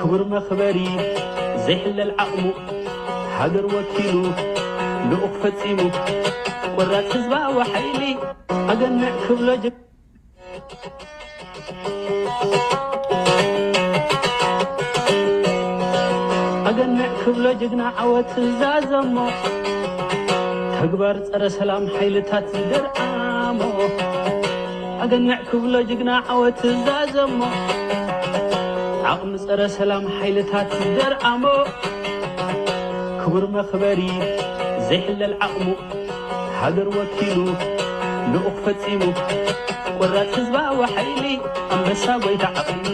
ክቡር መኽበሪ ዘይሕለል ዓቕሙ፣ ሃገር ወኪሉ ልኡኽ ፈጺሙ፣ ቆራጽ ህዝባዊ ሓይሊ ኣገንዕ ክብሎ ጅግ-፣ ኣገንዕ ክብሎ ጅግና ዓወት ዛዘሞ፣ ተግባር ጸረ ሰላም ሓይልታት ዝደርዓሞ። ኣገንዕ ክብሎ ጅግና ዓወት ዛዘሞ፣ ዓቕሚ ጸረ ሰላም ሓይልታት ዝደርዓሞ። ክቡር መኽበሪ ዘይሕለል ዓቕሙ፣ ሃገር ወኪሉ ልኡኽ ፈጺሙ፣ ቆራጽ ህዝባዊ ሓይሊ ኣንበሳ ጎይታ ዓቕሊ፣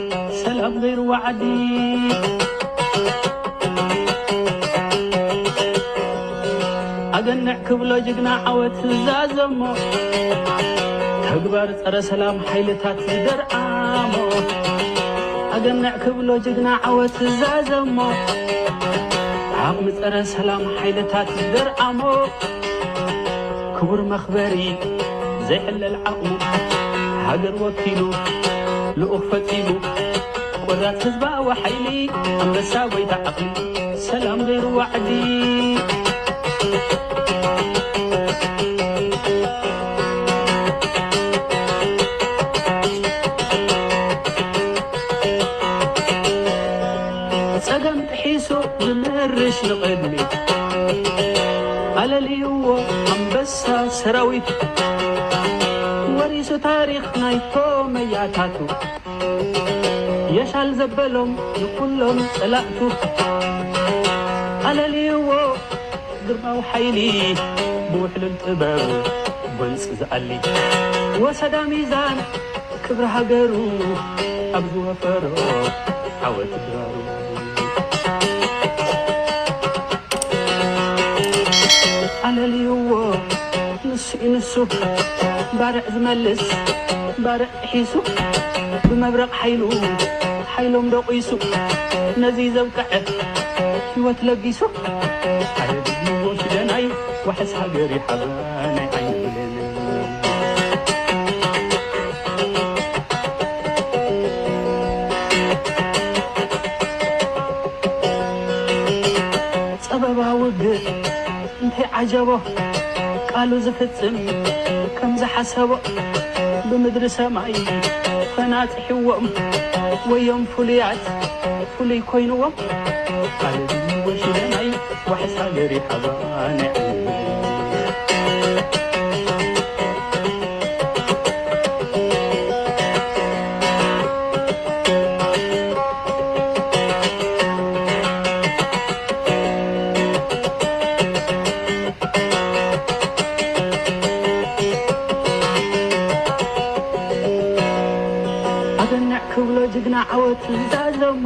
ሰላም ዘይርዋ ዓዲ። ኣገንዕ ክብሎ ጅግና ዓወት ዛዘሞ፣ ተግባር ጸረ ሰላም ሓይልታት ዝደርዓሞ። ኣገንዕ ክብሎ ጅግና ዓወት ዛዘሞ፣ ዓቕሚ ጸረ ሰላም ሓይልታት ዝደርዓሞ። ክቡር መኽበሪ ዘይሕለል ዓቕሙ፣ ሃገር ወኪሉ ልኡኽ ፈጺሙ፣ ቆራጽ ህዝባዊ ሓይሊ ኣንበሳ ጎይታ ዓቕሊ፣ ሰላም ዘይርዋ ዓዲ። ጸገም ጥሒሱ ዝምርሽ ንቕድሚት፣ ኣለልይዎ ኣንበሳ ሰራዊት፣ ወሪሱ ታሪኽ ናይቶም መያታቱ፣ የሻል ዘበሎም ንኹሎም ጸላእቱ፣ ኣለልይዎ ግርማዊ ሓይሊ ብውሕሉል ጥበብ ጎንጺ ዝኣሊ፣ ወሰዳ ሚዛን ክብሪ ሃገሩ ኣብ ዝወፈሮ ዓወት ድራሩ። ኣለልይዎ ንሱ እዩ ንሱ፣ ባርዕ ዝመልስ ባርዕ ጥሒሱ፣ ብመብረቕ ሓይሉ ሓይሎም ደቂሱ፣ ነዚ ዘብቅዐ ህይወት ለጊሱ። ኣየድልዎ ሽደናይ፣ ዋሕስ ሃገር ይሓባ ናይ ዓይኒ ብሌን። ጸበባ ውግእ እንታይ ዓጀቦ፣ ቃሉ ዝፍጽም ከም ዝሓሰቦ፣ ብምድሪ ሰማይ ተናጺሕዎም፣ ወዮም ፍሉያት ፍሉይ ኮይንዎም። ካልእ ወሽለናይ ዋሕስ ሃገር ይሓባ ናይ ዓይኒ። ኣገንዕ ክብሎ ጅግና ዓወት ዝዛዘሞ፣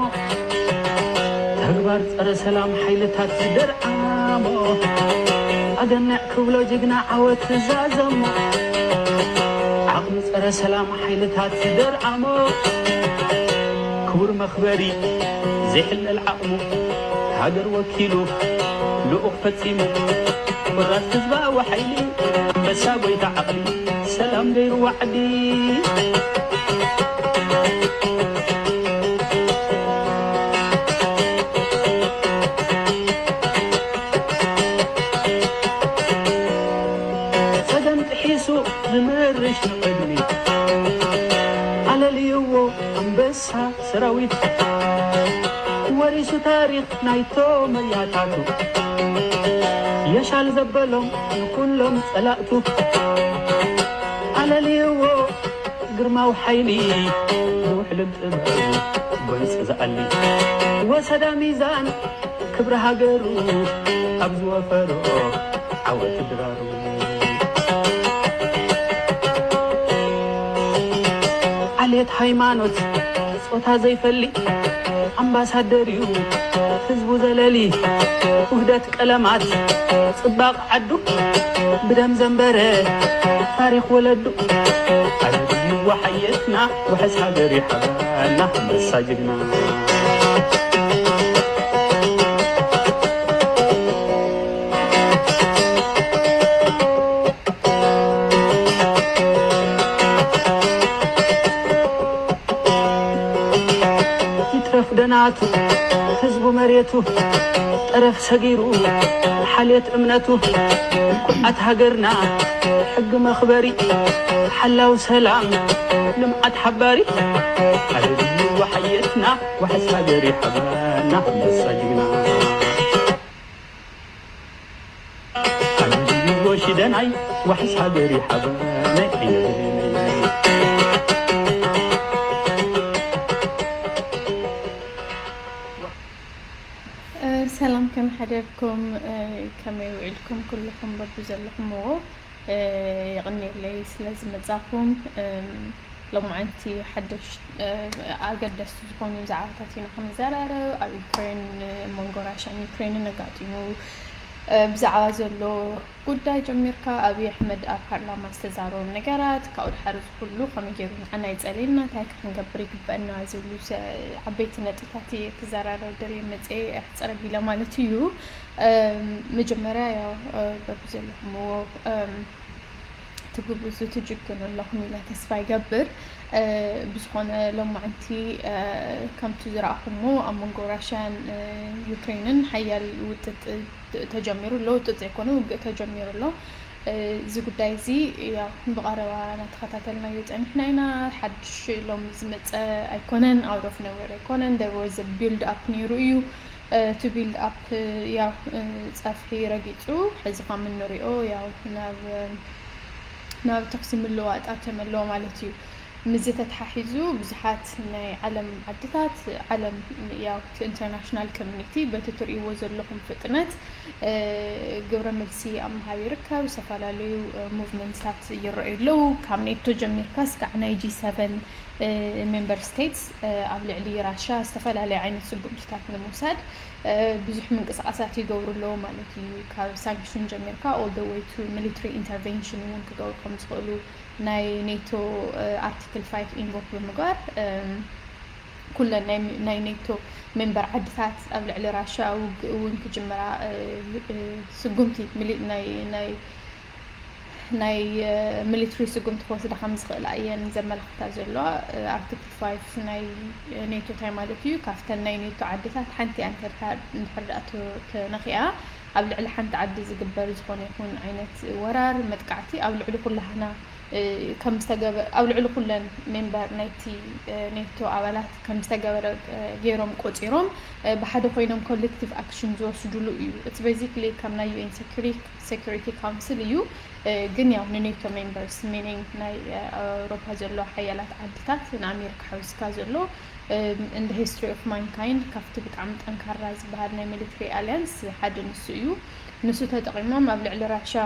ተግባር ጸረ ሰላም ሓይልታት ዝደርዓሞ። ኣገንዕ ክብሎ ጅግና ዓወት ዝዛዘሞ፣ ዓቕሚ ጸረ ሰላም ሓይልታት ዝደርዓሞ። ክቡር መኽበሪ ዘይሕለል ዓቕሙ፣ ሃገር ወኪሉ ልኡኽ ፈጺሙ፣ ቆራጽ ህዝባዊ ሓይሊ፣ ኣንበሳ ጎይታ ዓቕሊ፣ ሰላም ዘይርዋ ዓዲ። ጸገም ጥሒሱ ዝምርሽ ንቕድሚት፣ ኣለልይዎ ኣንበሳ ሰራዊት፣ ወሪሱ ታሪኽ ናይቶም መያታቱ፣ የሻል ዘበሎም ንኩሎም ጸላእቱ። ኣለልይዎ ግርማዊ ሓይሊ፣ ብውሕሉል ጥበብ ጎንጺ ዝኣሊ፣ ወሰዳ ሚዛን ክብሪ ሃገሩ ኣብ ዝወፈሮ ዓወት ድራሩ። ዓሌት ሃይማኖት ጾታ ዘይፈሊ፣ ኣምባሳደር እዩ ህዝቡ ዘለሊ። ውህደት ቀለማት ጽባቕ ዓዱ፣ ብደም ዘንበረ ታሪኽ ወለዱ። ኣዝዩ ወሓየትና፣ ውሕስ ሃገር ይሓበና፣ ኣንበሳ ጅግና። ይትረፍ ደናቱ ህዝቡ መሬቱ ጠረፍ ሰጊሩ ሓልየት እምነቱ ኩዓት ሃገርና ሕጊ መኽበሪ ሓላው ሰላም ልምዓት ሓባሪ ኣደልዩ ዋሕየትና ዋሕስ ሃገር ይሓባና መሳጅግና ኣንድዩ ወሽደናይ ዋሕስ ሃገር ይሓባና ሰላም፣ ከመይ ሓደርኩም? ከመይ ውዒልኩም? ኩልኹም በቢ ዘለኹምዎ የቕንየለይ ስለ ዝመጻኹም። ሎማዓንቲ ሓደሽ ኣገደስቲ ዝኾኑ ዛዕባታት ኢና ክንዘራረብ። ኣብ ዩክሬን፣ መንጎ ራሽያን ዩክሬንን ኣጋጢሙ ብዛዕባ ዘሎ ጉዳይ ጀሚርካ ኣብይ ኣሕመድ ኣብ ፓርላማ ዝተዛረቦም ነገራት ካብኡ ድሓር እዚ ኩሉ ከመይ ገይሩ ንዓና ይጸልየና እንታይ ክንገብር ይግበአና ዝብሉ ዓበይቲ ነጥብታት እየ ክዘራረብ ደልየ መጽየ ኣሕጽር ኣቢለ ማለት እዩ። መጀመርያ ያው በብዘለኹምዎ ትጉብዙ ትጅግኑ ኣለኹም ኢለ ተስፋ ይገብር። ብዝኾነ ሎማዓንቲ ከምቲ ዝረኣኹሞ ኣብ መንጎ ራሽያን ዩክሬንን ሓያል ውጥጥ ተጀሚሩ ኣሎ። ውጥጥ ዘይኮነ ውግእ ተጀሚሩ ኣሎ። እዚ ጉዳይ እዚ ያው ብቐረባ እናተኸታተልናዮ ጸኒሕና ኢና። ሓድሽ ሎሚ ዝመጸ ኣይኮነን፣ out of nowhere ኣይኮነን። There was a build up ነይሩ እዩ። እቲ build up ያው ጸፍሒ ረጊጹ ሕዚ ከም እንሪኦ ያው ናብ ናብ ተኹሲ ምልውዋጥ ኣትዮም ኣለዎ ማለት እዩ። ምስዚ ተተሓሒዙ ብዙሓት ናይ ዓለም ዓድታት ዓለም ያው እቲ international community በቲ ትርእይዎ ዘለኹም ፍጥነት ግብረ መልሲ ኣብ ምሃብ ይርከብ። ዝተፈላለዩ movement ታት ይረኣዩ ኣለዉ። ካብ ኔቶ ጀሚርካ እስካዕ ናይ G seven member states ኣብ ልዕሊ ራሽያ ዝተፈላለዩ ዓይነት ስጉምትታት ንምውሳድ ብዙሕ ምንቅስቃሳት ይገብሩ ኣለዉ ማለት እዩ። ካብ sanction ጀሚርካ all the way to military intervention እውን ክገብሩ ከም ዝኽእሉ ናይ ኔቶ article five invoke ብምግባር ኩለን ናይ ኔቶ member ዓድታት ኣብ ልዕሊ ራሽያ ውግእ እውን ክጅምራ ስጉምቲ ናይ ናይ military ስጉምቲ ክወስዳ ከም ዝኽእላ እየን ዘመላኽታ ዘለዋ። Article five ናይ ኔቶ እንታይ ማለት እዩ? ካብተን ናይ ኔቶ ዓድታት ሓንቲ እያ እንድሕር ደኣ ተነኺኣ ኣብ ልዕሊ ሓንቲ ዓዲ ዝግበር ዝኾነ ይኹን ዓይነት ወራር መጥቃዕቲ ኣብ ልዕሊ ኩላህና ከም ዝተገበ ኣብ ልዕሊ ኩለን member ናይቲ ኔቶ ኣባላት ከም ዝተገበረ ገይሮም ቆጺሮም ብሓደ ኮይኖም collective action ዝወስድሉ እዩ። It's basically ከም ናይ UN security council እዩ። ግን ያው ንኔቶ members meaning ናይ ኣውሮፓ ዘሎ ሓያላት ዓድታት ንኣሜሪካ ሓዊስካ ዘሎ in the history of mankind ካብቲ ብጣዕሚ ጠንካራ ዝበሃል ናይ military alliance ሓደ ንሱ እዩ። ንሱ ተጠቒሞም ኣብ ልዕሊ ራሽያ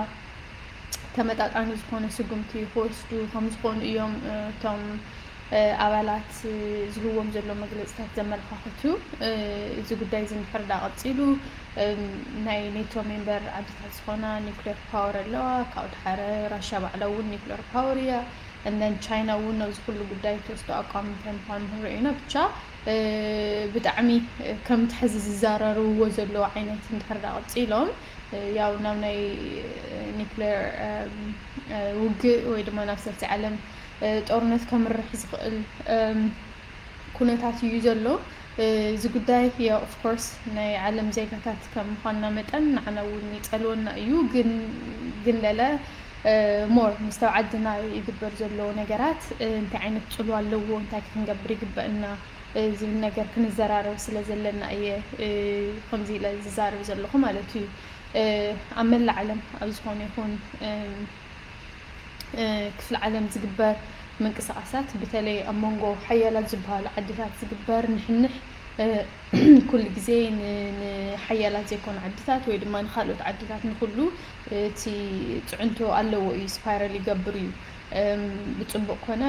ተመጣጣኒ ዝኾነ ስጉምቲ ክወስዱ ከም ዝኾኑ እዮም እቶም ኣባላት ዝህብዎም ዘሎ መግለፅታት ዘመላኻኽቱ። እዚ ጉዳይ እዚ እንድሕር ዳ ቀፂሉ ናይ ኔቶ member ዓድታት ዝኾና nuclear power ኣለዋ። ካብኡ ድሓረ ራሽያ ባዕላ እውን nuclear power እያ። And then ቻይና እውን ኣብዚ ኩሉ ጉዳይ ትወስዶ ኣቋም እንታይ ምዃኑ ክንሪኦ ኢና። ብቻ ብጣዕሚ ከምቲ ሕዚ ዝዛረርዎ ዘለዉ ዓይነት እንድሕር ዳ ቀፂሎም ያው ናብ ናይ nuclear ውግእ ወይ ድማ ናብ ሳልሳይ ዓለም ጦርነት ከምርሕ ዝኽእል ኩነታት እዩ ዘሎ። እዚ ጉዳይ ያው of course ናይ ዓለም ዜጋታት ከም ምዃንና መጠን ንዓና እውን ይጸልወና እዩ። ግን ግን ለለ more ምስ ኣብ ዓድና ይግበር ዘሎ ነገራት እንታይ ዓይነት ጽልዋ ኣለዎ፣ እንታይ ክንገብር ይግበእና ዝብል ነገር ክንዘራረብ ስለ ዘለና እየ ከምዚ ኢለ ዝዛረብ ዘለኹ ማለት እዩ። ኣብ መላእ ዓለም ኣብ ዝኾነ ይኹን ክፍሊ ዓለም ዝግበር ምንቅስቃሳት ብተለይ ኣብ መንጎ ሓያላት ዝበሃሉ ዓድታት ዝግበር ንሕንሕ ኩሉ ግዜ ንሓያላት ዘይኮኑ ዓድታት ወይ ድማ ንካልኦት ዓድታት ንኩሉ እቲ ፅዕንቶ ኣለዎ እዩ፣ spiral ይገብር እዩ። ብፅቡቅ ኮነ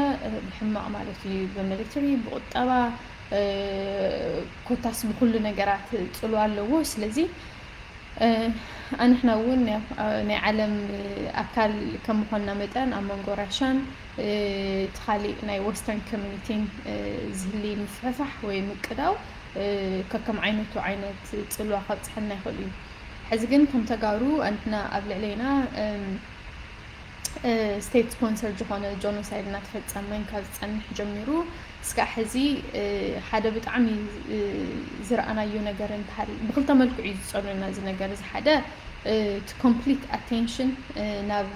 ብሕማቅ ማለት እዩ። ብምልትሪ ብቁጠባ ኮታስ ብኩሉ ነገራት ፅሉ ኣለዎ። ስለዚ ኣንሕና እውን ናይ ዓለም ኣካል ከም ምኳንና መጠን ኣብ መንጎ ራሻን እቲ ካሊእ ናይ western community ን ዝህሊ ምፍሕፋሕ ወይ ምቅዳው ከከም ዓይነቱ ዓይነት ፅልዋ ከብፅሐልና ይኽእል እዩ። ሕዚ ግን ከም ተጋሩ ኣንሕና ኣብ ልዕለይና state sponsored ዝኾነ genocide እናተፈጸመ ካብ ዝጸንሕ ጀሚሩ እስካዕ ሕዚ ሓደ ብጣዕሚ ዝረኣናዮ ነገር እንተሃል ብክልተ መልክዑ እዩ ዝጸሉና እዚ ነገር እዚ ሓደ እቲ complete attention ናብ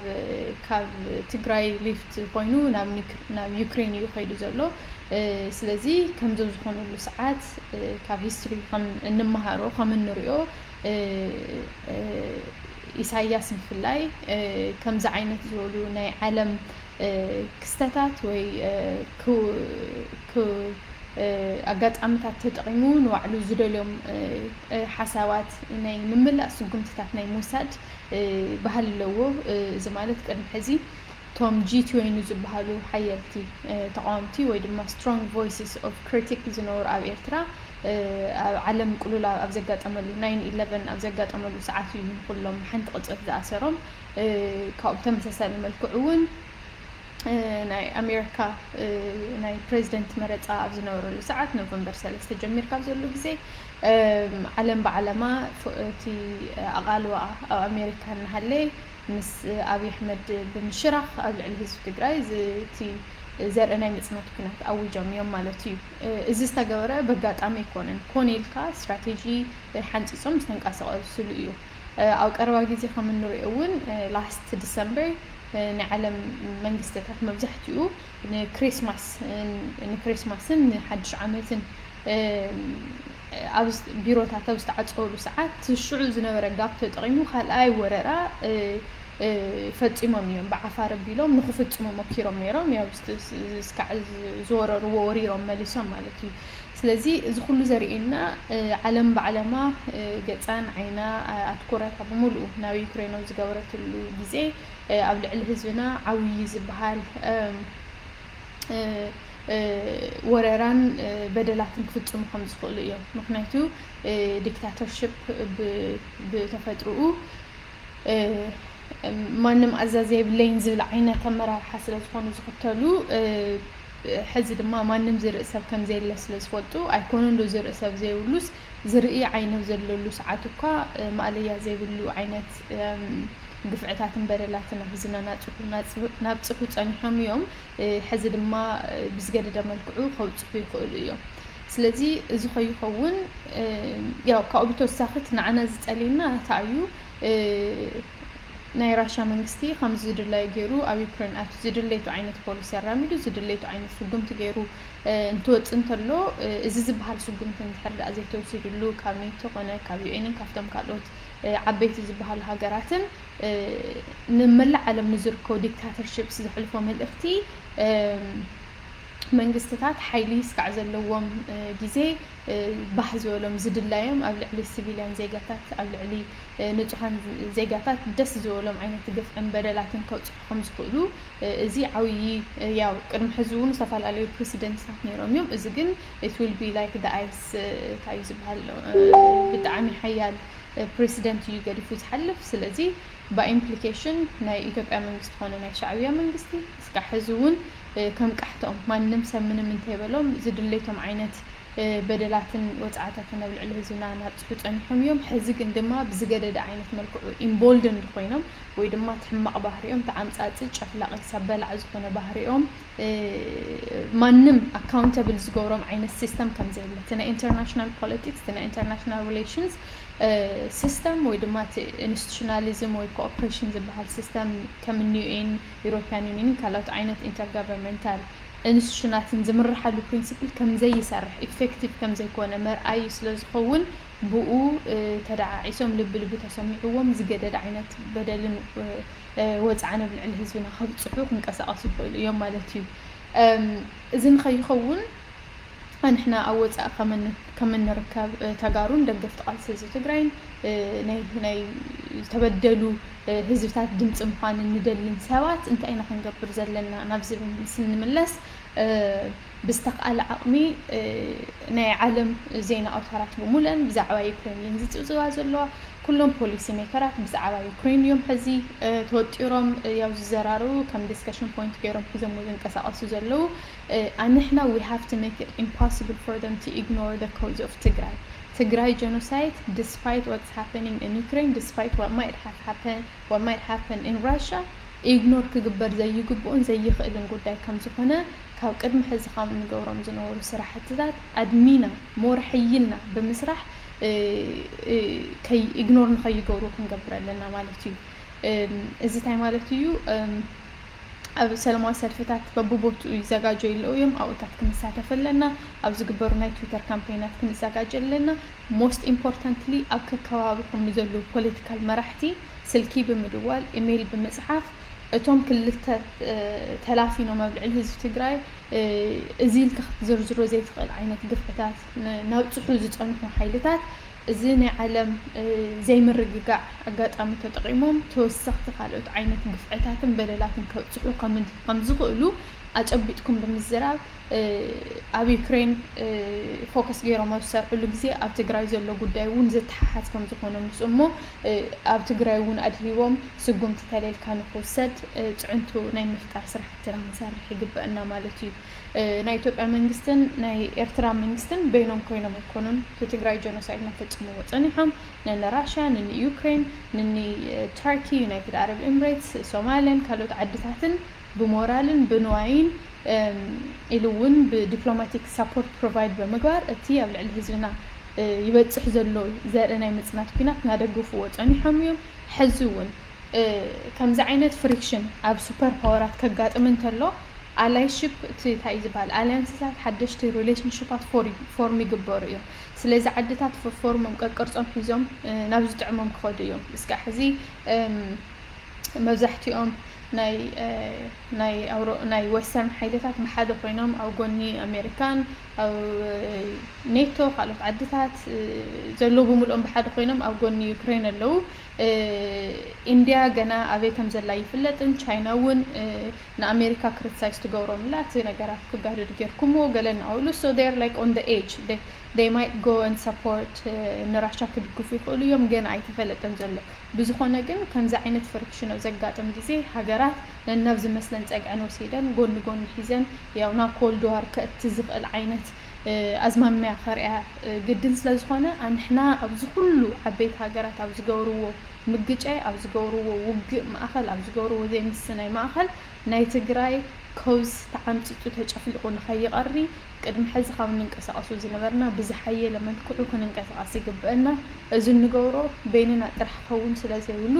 ካብ ትግራይ lift ኮይኑ ናብ ዩክሬን እዩ ከይዱ ዘሎ። ስለዚ ከምዞም ዝኾነሉ ሰዓት ካብ history ከም እንመሃሮ ከም እንሪኦ ኢሳያስ ብፍላይ ከምዚ ዓይነት ዝበሉ ናይ ዓለም ክስተታት ወይ ኣጋጣምታት ተጠቒሙ ንባዕሉ ዝደልዮም ሓሳባት ናይ ምምላእ ስጉምትታት ናይ ምውሳድ ባህሊ ኣለዎ። እዚ ማለት ቅድሚ ሕዚ እቶም ጂ ትዌንቲ ዝበሃሉ ሓየልቲ ተቃወምቲ ወይ ድማ strong voices of critic ዝነበሩ ኣብ ኤርትራ ኣብ ዓለም ቅሉል ኣብ ዘጋጠመሉ nine eleven ኣብ ዘጋጠመሉ ሰዓት እዩ ንኩሎም ሓንቲ ቅጽበት ዝኣሰሮም። ካብኡ ብተመሳሳሊ መልክዑ እውን ናይ ኣሜሪካ ናይ ፕሬዚደንት መረፃ ኣብ ዝነበረሉ ሰዓት ኖቨምበር ሰለስተ ጀሚርካ ኣብ ዘሎ ግዜ ዓለም ብዓለማ እቲ ኣቓልዋ ኣብ ኣሜሪካ እናሃለየ ምስ ኣብይ ኣሕመድ ብምሽራኽ ኣብ ልዕሊ ህዝቢ ትግራይ እቲ ዘርኢ ናይ ምፅናት ኩናት ኣዊጆም እዮም ማለት እዩ። እዚ ዝተገበረ በጋጣሚ ኣይኮነን። ኮነ ኢልካ ስትራቴጂ ሓንፂፆም ዝተንቀሳቐስሉ እዩ። ኣብ ቀረባ ግዜ ከም እንሪኦ እውን last December ናይ ዓለም መንግስትታት መብዛሕትኡ ንክሪስማስ ንክሪስማስን ንሓድሽ ዓመትን ቢሮታት ኣብ ዝተዓፀወሉ ሰዓት ሽዑ ዝነበረ ጋፕ ተጠቒሙ ካልኣይ ወረራ ፈፂሞም እዮም። ብዓፋር ኣቢሎም ንክፍፅሙ ሞኪሮም ነይሮም። ያው እስካዕ ዝወረርዎ ወሪሮም መሊሶም ማለት እዩ። ስለዚ እዚ ኩሉ ዘርእየና ዓለም ብዓለማ ገፃን ዓይና ኣትኩረታ ብምሉኡ ናብ ዩክሬን ኣብ ዝገበረትሉ ግዜ ኣብ ልዕሊ ህዝብና ዓብዪ ዝበሃል ወረራን በደላትን ክፍፅሙ ከም ዝኽእሉ እዮም። ምክንያቱ ዲክታተርሽፕ ብተፈጥርኡ ማንም ኣዛዚ የብለይን ዝብል ዓይነት ኣመራርሓ ስለ ዝኾኑ ዝኽተሉ ሕዚ ድማ ማንም ዝርኢ ሰብ ከም ዘየለ ስለ ዝፈልጡ ኣይኮነን ዶ ዝርኢ ሰብ ዘይብሉስ ዝርኢ ዓይነ ዘለሉ ሰዓት እኳ ማእለያ ዘይብሉ ዓይነት ግፍዕታትን በደላትን ኣብ ህዝብና ናብፅሑ ፀኒሖም እዮም። ሕዚ ድማ ብዝገደደ መልክዑ ከውፅሑ ይኽእሉ እዮም። ስለዚ እዚ ከይኸውን ያው ካብኡ ብተወሳኺ እቲ ንዓና ዝፀልየና እንታይ እዩ? ናይ ራሻ መንግስቲ ከም ዝድለዮ ገይሩ ኣብ ዩክሬን ኣትዩ ዝድለየቱ ዓይነት ፖሊሲ ኣራሚዱ ዝድለየቱ ዓይነት ስጉምቲ ገይሩ እንትወፅእ እንተሎ እዚ ዝበሃል ስጉምቲ እንድሕር ደኣ ዘይተወሲድሉ ካብ ኔቶ ኮነ ካብ ዩኤንን ካብቶም ካልኦት ዓበይቲ ዝበሃሉ ሃገራትን ንመላእ ዓለም ንዝርከቡ ዲክታተርሽፕስ ዘሕልፎ መልእኽቲ መንግስትታት ሓይሊ ስካዕ ዘለዎም ግዜ ባህ ዝበሎም ዝድላዮም ኣብ ልዕሊ ሲቪልያን ዜጋታት ኣብ ልዕሊ ንጹሃን ዜጋታት ደስ ዝበሎም ዓይነት ግፍዕን በደላትን ከብፅሑ ከም ዝኽእሉ እዚ ዓብዪ ያው ቅድሚ ሕዚ እውን ዝተፈላለዩ ፕሬሲደንትታት ነይሮም እዮም። እዚ ግን it will be like the ice እንታይ እዩ ዝበሃል ብጣዕሚ ሓያል ፕሬሲደንት እዩ ገዲፉ ዝሓልፍ። ስለዚ by implication ናይ ኢትዮጵያ መንግስቲ ኾነ ናይ ሻዕብያ መንግስቲ እስካዕ ሕዚ እውን ከም ቃሕትኦም ማንም ሰብ ምንም እንተይበሎም ዝድለይቶም ዓይነት በደላትን ወፅዓታትን ኣብ ልዕሊ ህዝብና ናብፅሑ ፀኒሖም እዮም። ሕዚ ግን ድማ ብዝገደደ ዓይነት መልክዑ ኢምቦልድንድ ኮይኖም ወይ ድማ እቲ ሕማቕ ባህሪኦም ተዓምፃፂ ጨፍላቒ ሰብ በላዕ ዝኾነ ባህሪኦም ማንም ኣካውንተብል ዝገብሮም ዓይነት ሲስተም ከም ዘየለ እቲ ናይ ኢንተርናሽናል ፖለቲክስ እቲ ናይ ኢንተርናሽናል ሪሌሽንስ ሲስተም ወይ ድማ እቲ ኢንስቲቱሽናሊዝም ወይ ኮኦፕሬሽን ዝበሃል ሲስተም ከም ዩኤን ዩሮፒያን ዩኒየንን ካልኦት ዓይነት ኢንተርጋቨርንመንታል ኢንስቲቱሽናትን ዝምርሓሉ ፕሪንስፕል ከም ዘይሰርሕ ኢፌክቲቭ ከም ዘይኮነ መርኣዩ ስለ ዝኸውን ብኡ ተደዓዒሶም ልቢ ልቢ ተሰሚዕዎም ዝገደደ ዓይነት በደልን ወፅዓን ኣብ ልዕሊ ህዝብና ከብፅሑ ክንቀሳቐሱ ይኽእሉ እዮም ማለት እዩ። እዚ ንኸይኸውን ኣንሕና ኣብ ወፃኢ ከም እንርከብ ተጋሩን ደገፍቲ ቃልሲ ህዝቢ ትግራይን ናይ ዝተበደሉ ህዝብታት ድምፂ ምዃን እንደልን ሰባት እንታይ ኢና ክንገብር ዘለና ናብ ዝብል ስንምለስ ብዝተኽኣለ ዓቕሚ ናይ ዓለም ዜና ኣውታራት ብምሉአን ብዛዕባ ዩክሬን እየን ዝፅብፅባ ዘለዋ። ኩሎም ፖሊሲ ሜከራት ብዛዕባ ዩክሬን እዮም ሕዚ ተወጢሮም ያው ዝዘራረቡ ከም ዲስከሽን ፖይንት ገይሮም ሒዞም ዝንቀሳቐሱ ዘለዉ። ኣንሕና we have to make it impossible for them to ignore the cause of ትግራይ ትግራይ genocide despite what's happening in Ukraine despite what might have happened what might happen in Russia ኢግኖር ክግበር ዘይግብኡን ዘይኽእልን ጉዳይ ከም ዝኾነ ካብ ቅድሚ ሕዚ ካብ እንገብሮም ዝነበሩ ስራሕትታት ኣድሚና ሞር ሕይልና ብምስራሕ ከይ ኢግኖር ንኸይገብሩ ክንገብር ኣለና ማለት እዩ። እዚ እንታይ ማለት እዩ? ኣብ ሰላማዊ ሰልፍታት በብቦትኡ ይዘጋጀዩ ኣለዉ እዮም። ኣብኡታት ክንሳተፍ ኣለና። ኣብ ዝግበሩ ናይ ትዊተር ካምፔይናት ክንዘጋጀ ኣለና። ሞስት ኢምፖርታንትሊ ኣብ ከከባቢኹም ንዘለዉ ፖለቲካል መራሕቲ ስልኪ ብምድዋል፣ ኢሜይል ብምፅሓፍ እቶም ክልተ ተላፊኖም ኣብ ልዕሊ ህዝቢ ትግራይ እዚ ኢልካ ክትዝርዝሮ ዘይትኽእል ዓይነት ግፍዕታት ነብፅሑ ዝፀንሑ ሓይልታት እዚ ናይ ዓለም ዘይምርግጋዕ ኣጋጣሚ ተጠቒሞም ተወሰኽቲ ካልኦት ዓይነት ግፍዕታትን በደላትን ከብፅሑ ከም ዝኽእሉ ኣጨቢጥኩም ብምዝራብ ኣብ ዩክሬን ፎከስ ገይሮም ኣብ ዝሰርሕሉ ግዜ ኣብ ትግራይ ዘሎ ጉዳይ እውን ዝተሓሓዝ ከም ዝኾነ ምስ እሞ ኣብ ትግራይ እውን ኣድሂቦም ስጉምቲ ተሌልካ ንክውሰድ ፅዕንቱ ናይ ምፍጣር ስራሕትና ክንሰርሕ ይግበአና ማለት እዩ። ናይ ኢትዮጵያ መንግስትን ናይ ኤርትራ መንግስትን በይኖም ኮይኖም ኣይኮኑን እቲ ትግራይ ጀኖሳይድ እናፈፀምዎ ፀኒሖም። ነኒ ራሽያ፣ ነኒ ዩክሬን፣ ነኒ ተርኪ፣ ዩናይትድ ዓረብ ኤምሬትስ፣ ሶማልን ካልኦት ዓድታትን ብሞራልን ብንዋይን ኢሉ እውን ብዲፕሎማቲክ ሳፖርት ፕሮቫይድ ብምግባር እቲ ኣብ ልዕሊ ህዝብና ይበፅሕ ዘሎ ዘርኢ ናይ ምፅናት ኲናት እናደገፍዎ ፀኒሖም እዮም። ሕዚ እውን ከምዚ ዓይነት ፍሪክሽን ኣብ ሱፐር ፓወራት ከጋጥም እንተሎ ኣላይሽፕ እቲ እንታይ እዩ ዝበሃል ኣሊያንስታት ሓደሽቲ ሪሌሽንሽፓት ፎርም ይግበሩ እዮም። ስለዚ ዓድታት ፎርሞም ቀቅርፆም ሒዞም ናብ ዝጥዕሞም ክኸዱ እዮም። እስካዕ ሕዚ መብዛሕትኦም ናይ ናይ ኣውሮ ናይ ወስተርን ሓይልታት ብሓደ ኮይኖም ኣብ ጎኒ ኣሜሪካን ኣብ ኔቶ ካልኦት ዓድታት ዘለዉ ብምልኦም ብሓደ ኮይኖም ኣብ ጎኒ ዩክሬን ኣለዉ። ኢንድያ ገና ኣበይ ከም ዘላ ይፍለጥን ቻይና እውን ንኣሜሪካ ክሪቲሳይዝ ትገብሮም ኣላ እቲ ነገራት ክጋደድ ጌርኩምዎ ገለ እናበሉ so they're like on the edge they might go and support ንራሻ ክድግፉ ይኽእሉ እዮም ገና ኣይተፈለጠን ዘሎ። ብዝኾነ ግን ከምዚ ዓይነት ፍሪክሽን ኣብ ዘጋጥም ግዜ ሃገራት ነናብ ዝመስለን ጸግዐን ወሲደን ጎኒ ጎኒ ሒዘን ያው ናብ ኮልድ ዋር ከእቲ ዝኽእል ዓይነት ኣዝማሚያ ከርእያ ግድን ስለ ዝኾነ ኣንሕና ኣብዚ ኩሉ ዓበይቲ ሃገራት ኣብ ዝገብርዎ ምግጫይ ኣብ ዝገብርዎ ውግእ ማእኸል ኣብ ዝገብርዎ ዘይምስናይ ማእኸል ናይ ትግራይ ኮዝ ተዓምፂፁ ተጨፍሊቑ ንኸይቐሪ ቅድሚ ሕዚ ካብ እንንቀሳቐሱ ዝነበርና ብዝሓየለ መልክዑ ክንንቀሳቐስ ይግበአና። እዚ እንገብሮ በይንና ጥራሕ ክኸውን ስለ ዘይብሉ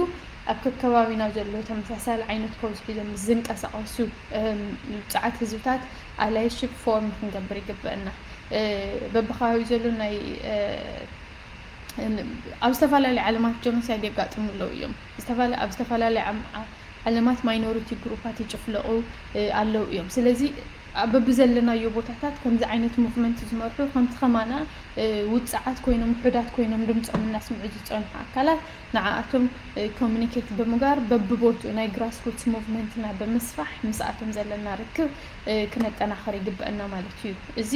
ኣብ ከከባቢና ዘለዉ ተመሳሳሊ ዓይነት ኮዝ ሒዞም ምስ ዝንቀሳቐሱ ውፅዓት ህዝብታት ኣላይሽፕ ፎርም ክንገብር ይግበአና። በብከባቢ ዘሎ ናይ ኣብ ዝተፈላለዩ ዓለማት ጀኖሳይድ የጋጥሙ ኣለዉ እዮም። ኣብ ዝተፈላለዩ ዓለማት ማይኖሪቲ ግሩፓት ይጭፍለቑ ኣለዉ እዮም። ስለዚ በብዘለናዮ ቦታታት ከምዚ ዓይነት ሙቭመንት ዝመርሑ ከምቲ ከማና ውፅዓት ኮይኖም ውሑዳት ኮይኖም ድምፆም እናስምዑ ዝፀንሑ ኣካላት ንዓኣቶም ኮሚኒኬት ብምግባር በብቦትኡ ናይ ግራስሩትስ ሙቭመንትና ብምስፋሕ ምስኣቶም ዘለና ርክብ ክነጠናኽር ይግበአና ማለት እዩ። እዚ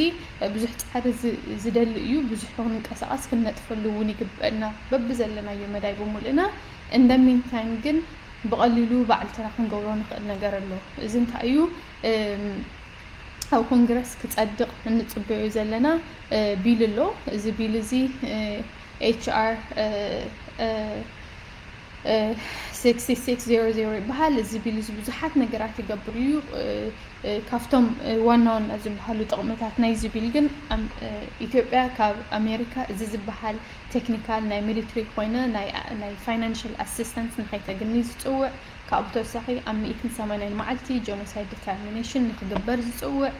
ብዙሕ ፃዕሪ ዝደሊ እዩ። ብዙሕ ክንንቀሳቐስ ክንነጥፈሉ እውን ይግበአና በብዘለናዮ መዳይ ብምልእና። In the meantime ግን ብቐሊሉ ባዕልትና ክንገብሮ ንኽእል ነገር ኣሎ። እዚ እንታይ እዩ? ኣብ ኮንግረስ ክፀድቕ እንፅበዮ ዘለና ቢል ኣሎ። እዚ ቢል እዚ ኤች ኣር ስክስቲ ሲክስ ዜሮ ዜሮ ይበሃል። እዚ ቢል እዚ ብዙሓት ነገራት ይገብር እዩ። ካብቶም ዋና ዋና ዝበሃሉ ጥቕምታት ናይዚ ቢል ግን ኢትዮጵያ ካብ ኣሜሪካ እዚ ዝበሃል ቴክኒካል ናይ ሚሊትሪ ኮይነ ናይ ፋይናንሽል ኣሲስተንስ ንኸይተግኒ ዝፅውዕ ካብኡ ተወሳኺ ኣብ ሚእትን ሰማንያን መዓልቲ ጀኖሳይድ ዲተርሚኔሽን ንክግበር ዝፅውዕ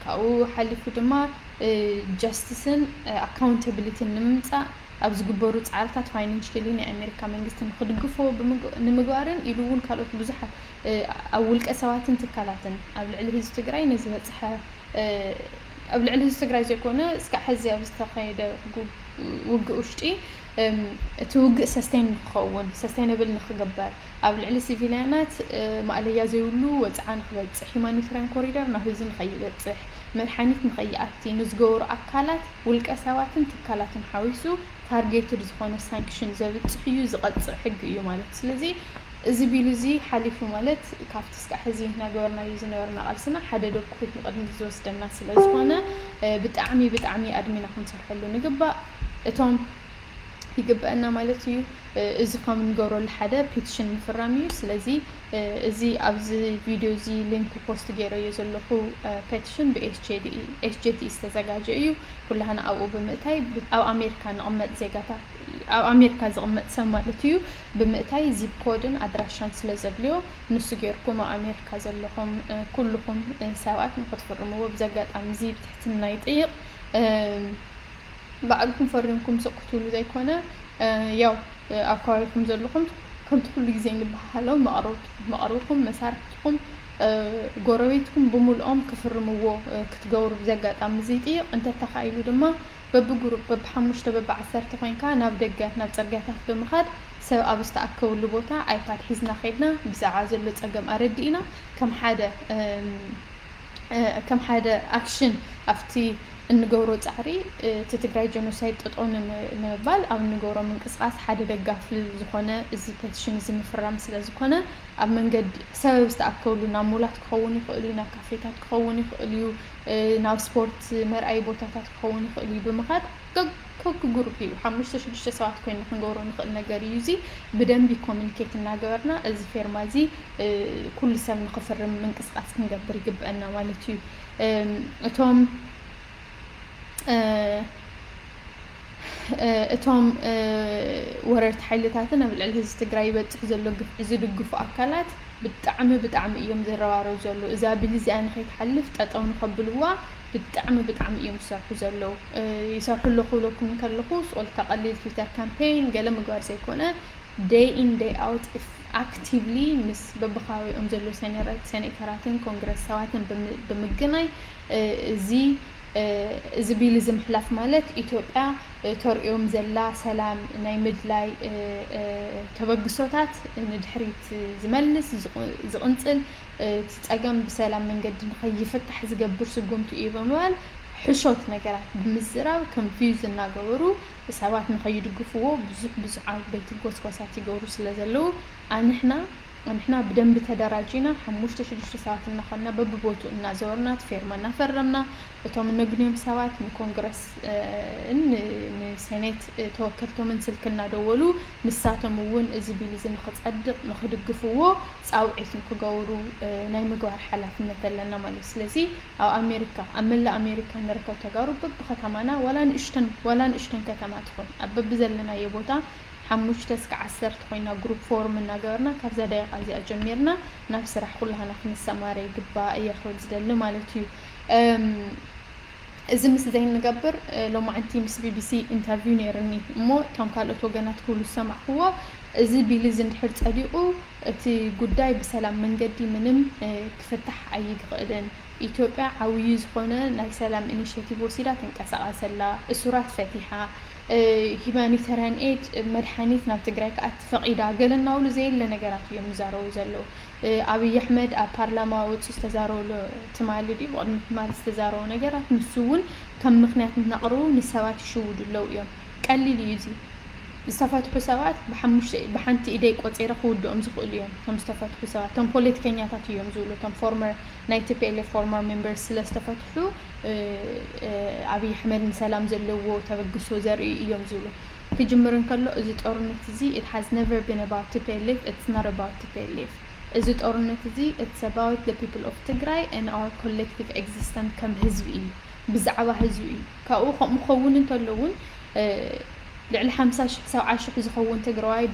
ካብኡ ሓሊፉ ድማ ጀስቲስን ኣካውንታብሊቲን ንምምፃእ ኣብ ዝግበሩ ፃዕርታት ፋይናንሽሊ ናይ ኣሜሪካ መንግስቲ ንክድግፎ ንምግባርን ኢሉ እውን ካልኦት ብዙሓት ኣብ ውልቀ ሰባትን ትካላትን ኣብ ልዕሊ ህዝቢ ትግራይ ንዝበፅሐ ኣብ ልዕሊ ህዝቢ ትግራይ ዘይኮነ እስካዕ ሕዚ ኣብ ዝተኸየደ ውግእ ውሽጢ እቲ ውግእ ሰስቴን ንክኸውን ሰስቴነብል ንክግበር ኣብ ልዕሊ ሲቪልያናት ማእለያ ዘይብሉ ወፅዓ ንክበፅሕ ሁማኒታርያን ኮሪደር ናብ ህዝቢ ንከይበፅሕ መድሓኒት ንከይኣቲ ንዝገበሩ ኣካላት ውልቀ ሰባትን ትካላትን ሓዊሱ ታርጌትድ ዝኾነ ሳንክሽን ዘብፅሕ እዩ ዝቐፅዕ ሕጊ እዩ ማለት እዩ። ስለዚ እዚ ቢል እዚ ሓሊፉ ማለት ካብቲ እስካዕ ሕዚ እናገበርናዮ ዝነበርና ቃልስና ሓደ ዶብ ክፉት ንቕድሚት ዝወስደና ስለ ዝኾነ ብጣዕሚ ብጣዕሚ ኣድሚና ክንሰርሐሉ ንግባእ። እቶም ይግበአና ማለት እዩ። እዚ ከም ንገብረሉ ሓደ ፔቲሽን ምፍራም እዩ። ስለዚ እዚ ኣብዚ ቪድዮ እዚ ሊንክ ፖስት ገይረዮ ዘለኹ ፔቲሽን ብኤስጄቲ ዝተዘጋጀ እዩ። ኩላህና ኣብኡ ብምእታይ ኣብ ኣሜሪካ ንቕመጥ ዜጋታት፣ ኣብ ኣሜሪካ ዝቕመጥ ሰብ ማለት እዩ፣ ብምእታይ ዚፕ ኮድን ኣድራሻን ስለ ዘድልዮ፣ ንሱ ጌርኩም ኣብ ኣሜሪካ ዘለኹም ኩልኹም ሰባት ንክትፍርምዎ ብዚ ኣጋጣሚ እዚ ብትሕትና ይጥይቕ። ባዕልኩም ፈሪምኩም ስቕ ክትብሉ ዘይኮነ፣ ያው ኣብ ከባቢኹም ዘለኹም ከምቲ ኩሉ ግዜ ንበሃሃሎ መቕርብኩም፣ መሳርሕትኩም፣ ጎረቤትኩም ብምልኦም ክፍርምዎ ክትገብሩ ብዚ ኣጋጣሚ እዚ ይጥይቕ። እንተተኻኢሉ ድማ በብግሩፕ በብሓሙሽተ በብዓሰርተ ኮይንካ ናብ ደገ ናብ ጽርግያታት ብምኻድ ሰብ ኣብ ዝተኣከብሉ ቦታ ኣይፓድ ሒዝና ከይድና ብዛዕባ ዘሎ ጸገም ኣረዲእና ከም ሓደ ከም ሓደ ኣክሽን ኣብቲ እንገብሮ ጻዕሪ እቲ ትግራይ ጀኖሳይድ ጠጠው ንምባል ኣብ እንገብሮ ምንቅስቃስ ሓደ ደጋፊ ዝኾነ እዚ ፔቲሽን እዚ ምፍራም ስለ ዝኾነ ኣብ መንገዲ ሰብ ዝተኣከብሉ ናብ ሞላት ክኸውን ይኽእል እዩ፣ ናብ ካፌታት ክኸውን ይኽእል እዩ፣ ናብ ስፖርት መርኣይ ቦታታት ክኸውን ይኽእል እዩ ብምኻድ ከክጉሩፕ እዩ ሓሙሽተ ሽዱሽተ ሰባት ኮይና ክንገብሮ ንኽእል ነገር እዩ። እዚ ብደንቢ ኮሚኒኬት እናገበርና እዚ ፌርማ እዚ ኩሉ ሰብ ንኽፍርም ምንቅስቃስ ክንገብር ይግበአና ማለት እዩ። እቶም እቶም ወረርቲ ሓይልታትን ኣብ ልዕሊ ህዝቢ ትግራይ ይበፅሕ ዘሎ ግፍዒ ዝድግፉ ኣካላት ብጣዕሚ ብጣዕሚ እዮም ዝረባረቡ ዘለዉ። እዛ ቢል እዚኣ ንኸይትሓልፍ ጠጠው ንኸብልዋ ብጣዕሚ ብጣዕሚ እዮም ዝሰርሑ ዘለዉ። ይሰርሑ ኣለኹ ኢለኩም ከለኹ ስቆልካ ቀሊል ትዊተር ካምፔይን ገለ ምግባር ዘይኮነ day in day out actively ምስ በብከባቢኦም ዘለዉ ሴኔተራትን ኮንግረስ ሰባትን ብምግናይ እዚ እዚ ቢል እዚ ምሕላፍ ማለት ኢትዮጵያ ተርእዮም ዘላ ሰላም ናይ ምድላይ ተበግሶታት ንድሕሪት ዝመልስ ዝቕንፅል እቲ ፀገም ብሰላም መንገዲ ንኸይፍታሕ ዝገብር ስጉምቲ እዩ ብምባል ሕሾት ነገራት ብምዝራብ ኮንፊውዝ እናገበሩ ሰባት ንኸይድግፍዎ ብዙሕ ብዙሕ ዓበይቲ ጎስጓሳት ይገብሩ ስለ ዘለዉ ኣንሕና ንሕና ብደንቢ ተደራጂና ሓሙሽተ ሽዱሽተ ሰባት እናኾንና በብቦትኡ እናዘወርና እቲ ፌርማ እናፈረምና እቶም እነግንዮም ሰባት ንኮንግረስ ን ንሴኔት ተወከልቶምን ስልኪ እናደወሉ ንሳቶም እውን እዚ ቢል እዚ ንክፀድቕ ንክድግፍዎ ፃውዒት ንክገብሩ ናይ ምግባር ሓላፍነት ኣለና ማለት እዩ። ስለዚ ኣብ ኣሜሪካ ኣብ መላእ ኣሜሪካ ንርከብ ተጋሩ በብከተማና ዋላ ንእሽተን ዋላ ንእሽተን ከተማ ትኾን ኣብ በብዘለናዮ ቦታ ሓሙሽተ እስከ ዓሰርተ ኮይና ግሩፕ ፎርም እናገበርና ካብዛ ደቂቃ እዚኣ ጀሚርና ናብ ስራሕ ኩላህና ክንሰማረ ይግባእ እየ ክብል ዝደሊ ማለት እዩ። እዚ ምስ ዘይንገብር ሎማዓንቲ ምስ ቢቢሲ ኢንተርቪው ነይርኒ እሞ እቶም ካልኦት ወገናት ክብሉ ዝሰማዕክዎ እዚ ቢል እዚ እንድሕር ፀዲቑ እቲ ጉዳይ ብሰላም መንገዲ ምንም ክፍታሕ ኣይክእልን። ኢትዮጵያ ዓብዩ ዝኾነ ናይ ሰላም ኢኒሼቲቭ ወሲዳ ትንቀሳቐስ ኣላ፣ እሱራት ፈቲሓ፣ ሂማኒታርያን ኤድ መድሓኒት ናብ ትግራይ ክኣቲ ፈቒዳ፣ ገለ እናብሉ ዘየለ ነገራት እዮም ዝዛረቡ ዘለዉ። ኣብይ ኣሕመድ ኣብ ፓርላማ ወፂኡ ዝተዛረበሉ ትማሊ ድዩ ብቕድሚ ትማሊ ዝተዛረቦ ነገራት ንሱ እውን ከም ምኽንያት እናቕርቡ ንሰባት ይሽውዱ ኣለዉ እዮም። ቀሊል እዩ እዚ። ዝተፈትሑ ሰባት ብሓንቲ ኢደይ ቆፂረ ክውድኦም ዝኽእሉ እዮም። እቶም ዝተፈትሑ ሰባት እቶም ፖለቲከኛታት እዮም ዝብሉ እቶም ፎርመር ናይ ቲፒኤልኤፍ ፎርመር ሜምበርስ ስለ ዝተፈትሑ ኣብይ ኣሕመድ ንሰላም ዘለዎ ተበግሶ ዘርእዩ እዮም ዝብሉ። ክጅምር እንከሎ እዚ ጦርነት እዚ it has never been about T P L F, it's not about T P L F። እዚ ጦርነት እዚ it's about the people of ትግራይ and our collective existence ከም ህዝቢ እዩ፣ ብዛዕባ ህዝቢ እዩ። ካብኡ ከምኡ ክኸውን እንተሎ እውን ልዕሊ ሓምሳ ሽሕ ሰብዓ ሽሕ ዝኸውን ትግራዋይ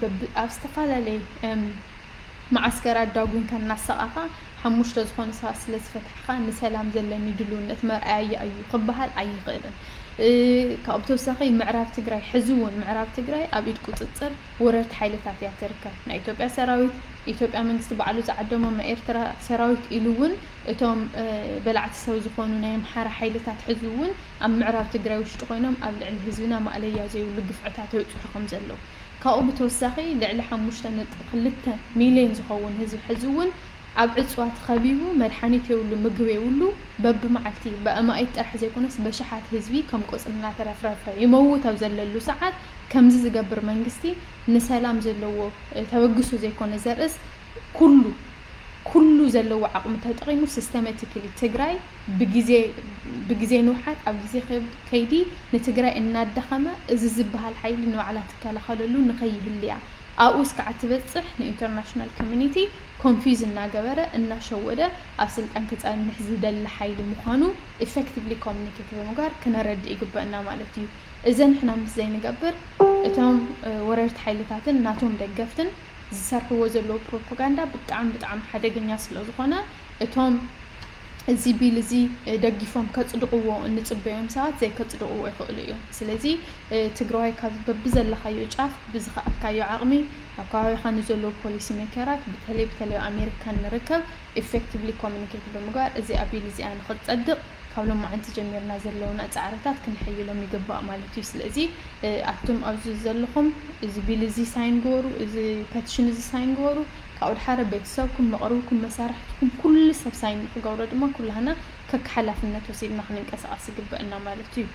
ኣብ ዝተፈላለየ መዓስከራት ዳጉንካ እናሰቓኻ ሓሙሽተ ዝኾኑ ሰባት ስለ ዝፈታሕኻ ንሰላም ዘለኒ ድልውነት መርኣያ እዩ ክበሃል ኣይኽእልን። ካብኡ ብተወሳኺ ምዕራብ ትግራይ ሕዚ እውን ምዕራብ ትግራይ ኣብ ኢድ ቁፅፅር ወረርቲ ሓይልታት እያ ትርከብ። ናይ ኢትዮጵያ ሰራዊት ኢትዮጵያ መንግስቲ ባዕሉ ዝዓደሞም ናይ ኤርትራ ሰራዊት ኢሉ እውን እቶም በላዕቲ ሰብ ዝኾኑ ናይ ኣምሓራ ሓይልታት ሕዚ እውን ኣብ ምዕራብ ትግራይ ውሽጢ ኮይኖም ኣብ ልዕሊ ህዝብና ማእለያ ዘይብሉ ግፍዕታት የብፅሑ ከም ዘለዉ ካብኡ ብተወሳኺ ልዕሊ ሓሙሽተ ነጥቢ ክልተ ሚልዮን ዝኸውን ህዝቢ ሕዚ እውን ኣብ ዕፅዋ ተኸቢቡ መድሓኒት የብሉ፣ ምግቢ የብሉ፣ በብመዓልቲ ብኣማኢት ጥራሕ ዘይኮነስ በሽሓት ህዝቢ ከም ቆፅሊ እናተረፍረፈ ይመውት ኣብ ዘለሉ ሰዓት ከምዚ ዝገብር መንግስቲ ንሰላም ዘለዎ ተበግሶ ዘይኮነ ዘርእስ ኩሉ ኩሉ ዘለዎ ዓቕሚ ተጠቒሙ systematically ትግራይ ብግዜ ንውሓት ኣብ ግዜ ከይዲ ንትግራይ እናዳኸመ እዚ ዝበሃል ሓይሊ ንባዕላ ትከላኸለሉ ንኸይህልያ ኣብኡ እስካዓ ትበፅሕ ን international community confuse እናገበረ እናሸወደ ኣብ ስልጣን ክፀንሕ ዝደሊ ሓይሊ ምዃኑ effectively communicate ብምግባር ክነረድእ ይግበእና ማለት እዩ። እዚ ንሕና ምስ ዘይንገብር እቶም ወረርቲ ሓይልታትን ናቶም ደገፍትን ዝሰርሕዎ ዘለዉ ፕሮፓጋንዳ ብጣዕሚ ብጣዕሚ ሓደገኛ ስለ ዝኾነ እቶም እዚ ቢል እዚ ደጊፎም ከፅድቕዎ እንፅበዮም ሰባት ዘይከፅድቕዎ ይኽእሉ እዮም። ስለዚ ትግራዋይ ካብ በብዘለኻዮ ጫፍ ብዝኸኣልካዮ ዓቕሚ ኣብ ከባቢኻ ንዘለዉ ፖሊሲ ሜከራት ብተለይ ብተለይ ኣሜሪካን ንርከብ effectively communicate ብምግባር እዚኣ ቢል እዚኣ ንኽትፀድቕ ካብ ሎማዓንቲ ጀሚርና ዘለውና ፃዕርታት ክንሕይሎም ይግባእ ማለት እዩ። ስለዚ ኣቱም ኣብዚ ዘለኹም እዚ ቢል እዚ ሳይን ግበሩ፣ እዚ ፐቲሽን እዚ ሳይን ግበሩ። ካብኡ ድሓረ ቤተሰብኩም፣ መቕርብኩም፣ መሳርሕትኩም ኩሉ ሰብ ሳይን ንክገብሮ ድማ ኩላህና ከክ ሓላፍነት ወሲድና ክንንቀሳቐስ ይግበእና ማለት እዩ።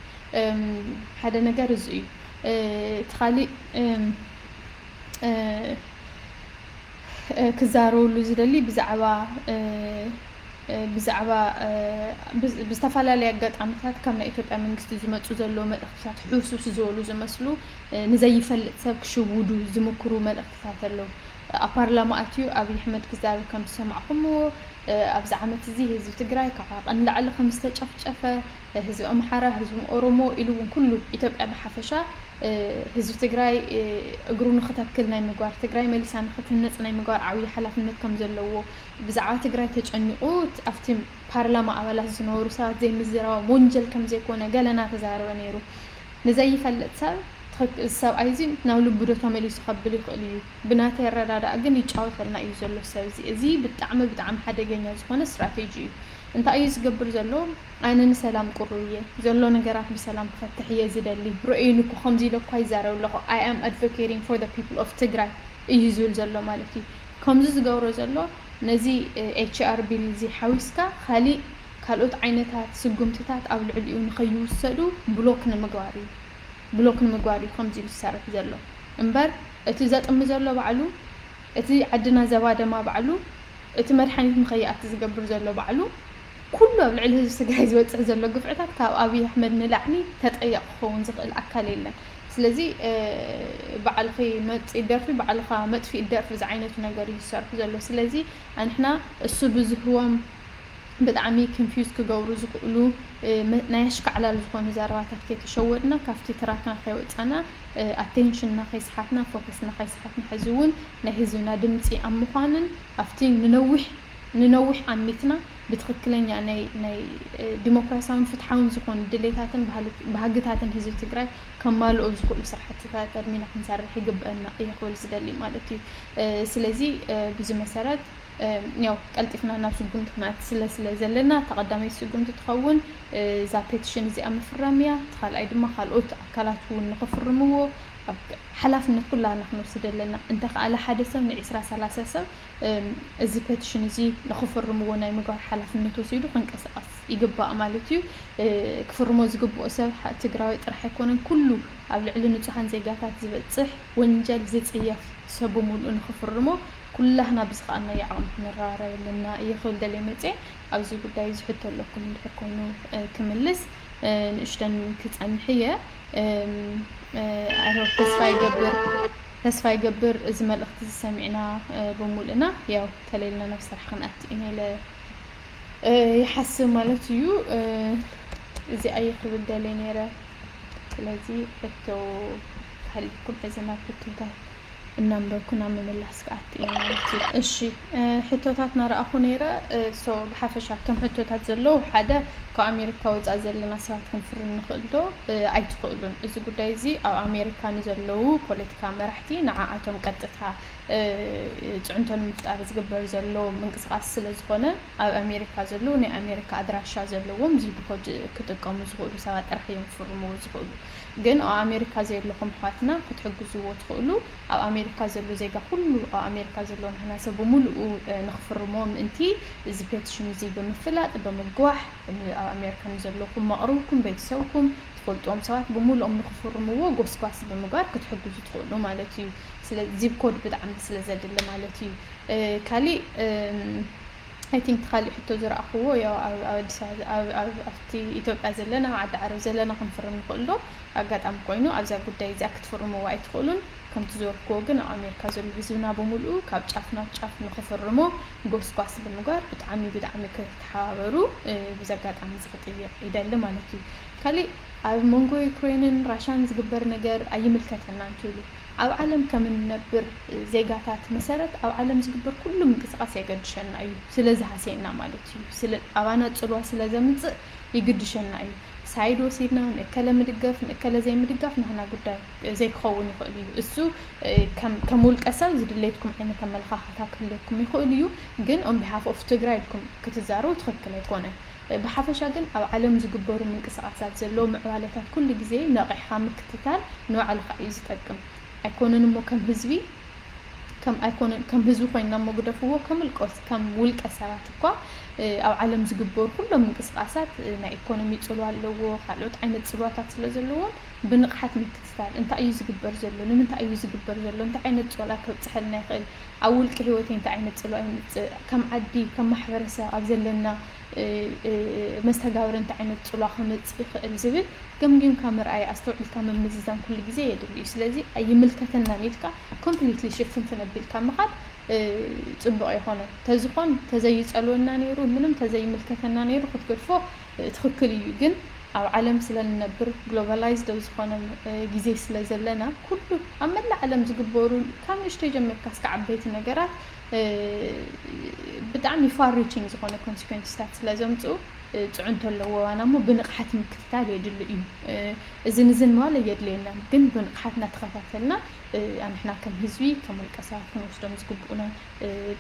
ሓደ ነገር እዚ እዩ። እቲ ካሊእ ክዛረበሉ ዝደሊ ብዛዕባ ብዛዕባ ብዝተፈላለየ ኣጋጣሚታት ካብ ናይ ኢትዮጵያ መንግስቲ ዝመፁ ዘለዉ መልእኽትታት ሕውስውስ ዝበሉ ዝመስሉ ንዘይፈልጥ ሰብ ክሽውዱ ዝምክሩ መልእኽትታት ኣለዉ። ኣብ ፓርላማ ኣትዩ ኣብይ ኣሕመድ ክዛረብ ከም ዝሰማዕኹምዎ ኣብዚ ዓመት እዚ ህዝቢ ትግራይ ካብ ዓቐን ንላዕሊ ከም ዝተጨፍጨፈ ህዝቢ ኣምሓራ፣ ህዝቢ ኦሮሞ ኢሉ እውን ኩሉ ኢትዮጵያ ብሓፈሻ ህዝቢ ትግራይ እግሩ ንክተክል ናይ ምግባር፣ ትግራይ መሊሳ ንክትህነፅ ናይ ምግባር ዓብዪ ሓላፍነት ከም ዘለዎ ብዛዕባ ትግራይ ተጨኒቑ ኣብቲ ፓርላማ ኣባላት ዝነበሩ ሰባት ዘይምዝራቦም ወንጀል ከም ዘይኮነ ገለ እናተዛረበ ነይሩ። ንዘይፈልጥ ሰብ ትኽክ- እዚ ሰብኣይ እዚ ናብ ልቡ ዶ ተመሊሱ ከብል ይኽእል እዩ። ብናተይ ኣረዳድኣ ግን ይጫወተልና እዩ ዘሎ ሰብ እዚ። እዚ ብጣዕሚ ብጣዕሚ ሓደገኛ ዝኾነ ስትራቴጂ እዩ። እንታይ እዩ ዝገብር ዘሎ? ኣነ ንሰላም ቁሩብ እየ ዘሎ ነገራት ብሰላም ክፈትሕ እየ ዝደሊ። ርእዩኒ እኮ ከምዚ ኢለ እኳ ይዛረብ ኣለኹ። I am advocating for the people of ትግራይ እዩ ዝብል ዘሎ ማለት እዩ። ከምዚ ዝገብሮ ዘሎ ነዚ ኤች ኣር ቢል እዚ ሓዊስካ ካሊእ ካልኦት ዓይነታት ስጉምትታት ኣብ ልዕሊኡ ንኸይውሰዱ ብሎክ ንምግባር እዩ። ብሎክ ንምግባር እዩ ከምዚ ኢሉ ዝሰርሕ ዘሎ እምበር እቲ ዘጥሚ ዘሎ ባዕሉ እቲ ዓድና ዘባደማ ባዕሉ እቲ መድሓኒት ንኸይኣቲ ዝገብር ዘሎ ባዕሉ ኩሉ ኣብ ልዕሊ ህዝቢ ትግራይ ዝበፅሕ ዘሎ ግፍዕታት ካብ ኣብይ ኣሕመድ ንላዕሊ ተጠያቂ ክኸውን ዝኽእል ኣካል የለን። ስለዚ ባዕልኺ መፂ ደርፊ ባዕልኻ መጥፊእ ደርፊ ዝዓይነቱ ነገር እዩ ዝሰርሑ ዘሎ። ስለዚ ኣንሕና እሱ ብዝህቦም ብጣዕሚ confuse ክገብሩ ዝኽእሉ ናይ ኣሽካዕላል ዝኾኑ ዘረባታት ከይተሸወድና ካብቲ ትራክና ከይወፃና ኣቴንሽንና ከይስሓትና ፎከስና ከይስሓትና ሕዚ እውን ናይ ህዝብና ድምፂ ኣብ ምዃንን ኣብቲ ንነዊሕ ንነዊሕ ኣሚትና ብትኽክለኛ ናይ ናይ ዲሞክራሲያውን ፍትሓውን ዝኾኑ ድሌታትን ባህግታትን ህዝቢ ትግራይ ከማልኦ ዝኽእሉ ስራሕትታት ቀድሚና ክንሰርሕ ይግበአና እየ ክብል ዝደሊ ማለት እዩ። ስለዚ ብዚ መሰረት ያው ቀልጢፍና ናብ ስጉምቲ ክነኣቲ ስለ ስለ ዘለና እታ ቀዳመይቲ ስጉምቲ ትኸውን እዛ ፔቲሽን እዚኣ ምፍራም እያ። እቲ ካልኣይ ድማ ካልኦት ኣካላት እውን ንክፍርምዎ ኣብ ሓላፍነት ኩላና ክንወስድ ኣለና። እንተኸኣለ ሓደ ሰብ ንዒስራ ሰላሳ ሰብ እዚ ፔቲሽን እዚ ንክፍርምዎ ናይ ምግባር ሓላፍነት ወሲዱ ክንቀሳቐስ ይግባእ ማለት እዩ። ክፍርሞ ዝግብኦ ሰብ ትግራዊ ጥራሕ ኣይኮነን። ኩሉ ኣብ ልዕሊ ንፁሃን ዜጋታት ዝበፅሕ ወንጀል ዝፅየፍ ሰብ ብምሉኡ ንክፍርሞ ኩላህና ብዝኸኣልናዮ ዓቕሚ ክንረባረብ ኣለና እየ ክብል ደልየ መፅየ። ኣብዚ ጉዳይ እዚ ሕቶ ኣለኩም እንድሕር ኮይኑ ክምልስ ንእሽተን ክፀንሕ እየ። ተስፋ ይገብር ተስፋ ይገብር እዚ መልእኽቲ ዝሰሚዕና ብምሉእና ያው ተለይልና ናብ ስራሕ ክንኣቲ ኢና ኢለ ይሓስብ ማለት እዩ። እዚ ኣየ ክብል ደልየ ነይረ። ስለዚ ሕቶ ሃሊኩም ሕዚ ናብ ሕቶታት እናንበብኩ ናብ ምምላስ ክኣቲ እየ ማለት እዩ። እሺ ሕቶታት ናረኣኹ ነይረ። ሶ ብሓፈሻ እቶም ሕቶታት ዘለዉ ሓደ ካብ ኣሜሪካ ወፃእ ዘለና ሰባት ክንፍርም ንኽእል ዶ? ኣይትኽእሉን። እዚ ጉዳይ እዚ ኣብ ኣሜሪካ ንዘለዉ ፖለቲካ መራሕቲ ንዓኣቶም ቀጥታ ፅዕንቶ ንምፍጣር ዝግበር ዘሎ ምንቅስቃስ ስለ ዝኾነ ኣብ ኣሜሪካ ዘለዉ ናይ ኣሜሪካ ኣድራሻ ዘለዎም ዚፕ ኮድ ክጥቀሙ ዝኽእሉ ሰባት ጥራሕ እዮም ክፍርምዎ ዝኽእሉ። ግን ኣብ ኣሜሪካ ዘለኹም ኣሕዋትና ክትሕግዝዎ ትኽእሉ። ኣብ ኣሜሪካ ዘሎ ዜጋ ኩሉ ኣብ ኣሜሪካ ዘሎ ንሕና ሰብ ብምሉኡ ንክፍርሞ ምእንቲ እዚ ፔቲሽን እዚ ብምፍላጥ ብምግዋሕ ኣብ ኣሜሪካ ንዘለኹም መቕርብኩም ቤተሰብኩም ትፈልጥዎም ሰባት ብምሉኦም ንክፍርምዎ ጎስጓስ ብምግባር ክትሕግዙ ትኽእሉ ማለት እዩ። ስለ ዚፕ ኮድ ብጣዕሚ ስለ ዘድሊ ማለት እዩ። ካሊእ I think ካሊእ ሕቶ ዝረኣኽዎ ያው ኣብ ኣዲስ ኣበባ ኣብቲ ኢትዮጵያ ዘለና ኣብ ዓዲ ዓረብ ዘለና ክንፍርም ንኽእል ዶ? ኣጋጣሚ ኮይኑ ኣብዛ ጉዳይ እዚኣ ክትፍርምዎ ኣይትኽእሉን። ከምቲ ዝበልክዎ ግን ኣብ ኣሜሪካ ዘሎ ህዝብና ብምሉኡ ካብ ጫፍ ናብ ጫፍ ንኽፍርሞ ጎስጓስ ብምግባር ብጣዕሚ ብጣዕሚ ክትተሓባበሩ ብዚ ኣጋጣሚ እዚ ክጥይቕ ይደሊ ማለት እዩ። ካሊእ ኣብ መንጎ ዩክሬንን ራሻን ዝግበር ነገር ኣይምልከተናን ትብሉ። ኣብ ዓለም ከም እንነብር ዜጋታት መሰረት ኣብ ዓለም ዝግበር ኩሉ ምንቅስቃስ የገድሸና እዩ። ስለዚ ሃሴና ማለት እዩ። ስለ ኣባና ጽልዋ ስለ ዘምጽእ ይግድሸና እዩ። ሳይድ ወሲድና ንእከለ ምድገፍ ንእከለ ዘይምድጋፍ ናህና ጉዳይ ዘይክኸውን ይኽእል እዩ። እሱ ከም ውልቀ ሰብ ዝድለየትኩም ዓይነት ኣመለኻኽታ ክህልየኩም ይኽእል እዩ። ግን on behalf of ትግራይ ኢልኩም ክትዛረቡ ትኽክል ኣይኮነን። ብሓፈሻ ግን ኣብ ዓለም ዝግበሩ ምንቅስቃሳት ዘለዉ ምዕባለታት ኩሉ ግዜ ነቒሕኻ ምክትታል ንባዕልኻ እዩ ዝጠቅም። ኣይኮነን እሞ ከም ህዝቢ ከም ኣይኮነን ከም ህዝቢ ኮይንና እሞ ግደፍዎ ከም ውልቀ ከም ውልቀ ሰባት እኳ ኣብ ዓለም ዝግበሩ ኩሎም ምንቅስቃሳት ናይ ኢኮኖሚ ፅልዋ ኣለዎ፣ ካልኦት ዓይነት ፅልዋታት ስለ ዘለዎም ብንቕሓት ምክትታል እንታይ እዩ ዝግበር ዘሎ፣ ንምንታይ እዩ ዝግበር ዘሎ፣ እንታይ ዓይነት ፅልዋ ከብፅሐልና ይኽእል፣ ኣብ ውልቂ ህይወተይ እንታይ ዓይነት ፅልዋ ይምፅእ፣ ከም ዓዲ ከም ማሕበረሰብ ኣብ ዘለና መስተጋብር እንታይ ዓይነት ፅልዋ ከምፅእ ይኽእል ዝብል ገምጊምካ ምርኣይ ኣስተውዒልካ ምምዝዛን ኩሉ ግዜ የድሊ እዩ። ስለዚ ኣይምልከተናን ኢልካ ኮምፕሊትሊ ሽፍንፍን ኣቢልካ ምኻድ ፅቡቕ ኣይኮነን። ተዝኾን ተዘይፀልወና ነይሩ ምንም ተዘይምልከተና ነይሩ ክትገድፎ ትኽክል እዩ። ግን ኣብ ዓለም ስለ ንነብር ግሎባላይዝድ ኣብ ዝኾነ ግዜ ስለ ዘለና ኩሉ ኣብ መላእ ዓለም ዝግበሩ ካብ ንእሽተይ ጀሚርካ እስከ ዓበይቲ ነገራት ብጣዕሚ ፋር ሪቺንግ ዝኾነ ኮንሲኮንስታት ስለ ዘምፅኡ ፅዕንቶ ኣለዎ። ዋና እሞ ብንቕሓት ምክትታል የድሊ እዩ። እዝን እዝን ምባል ኣየድልየናን፣ ግን ብንቕሓት እናተኸታተልና ኣንሕና ከም ህዝቢ ከም ውልቀ ሰባት ክንወስዶም ዝግብኡና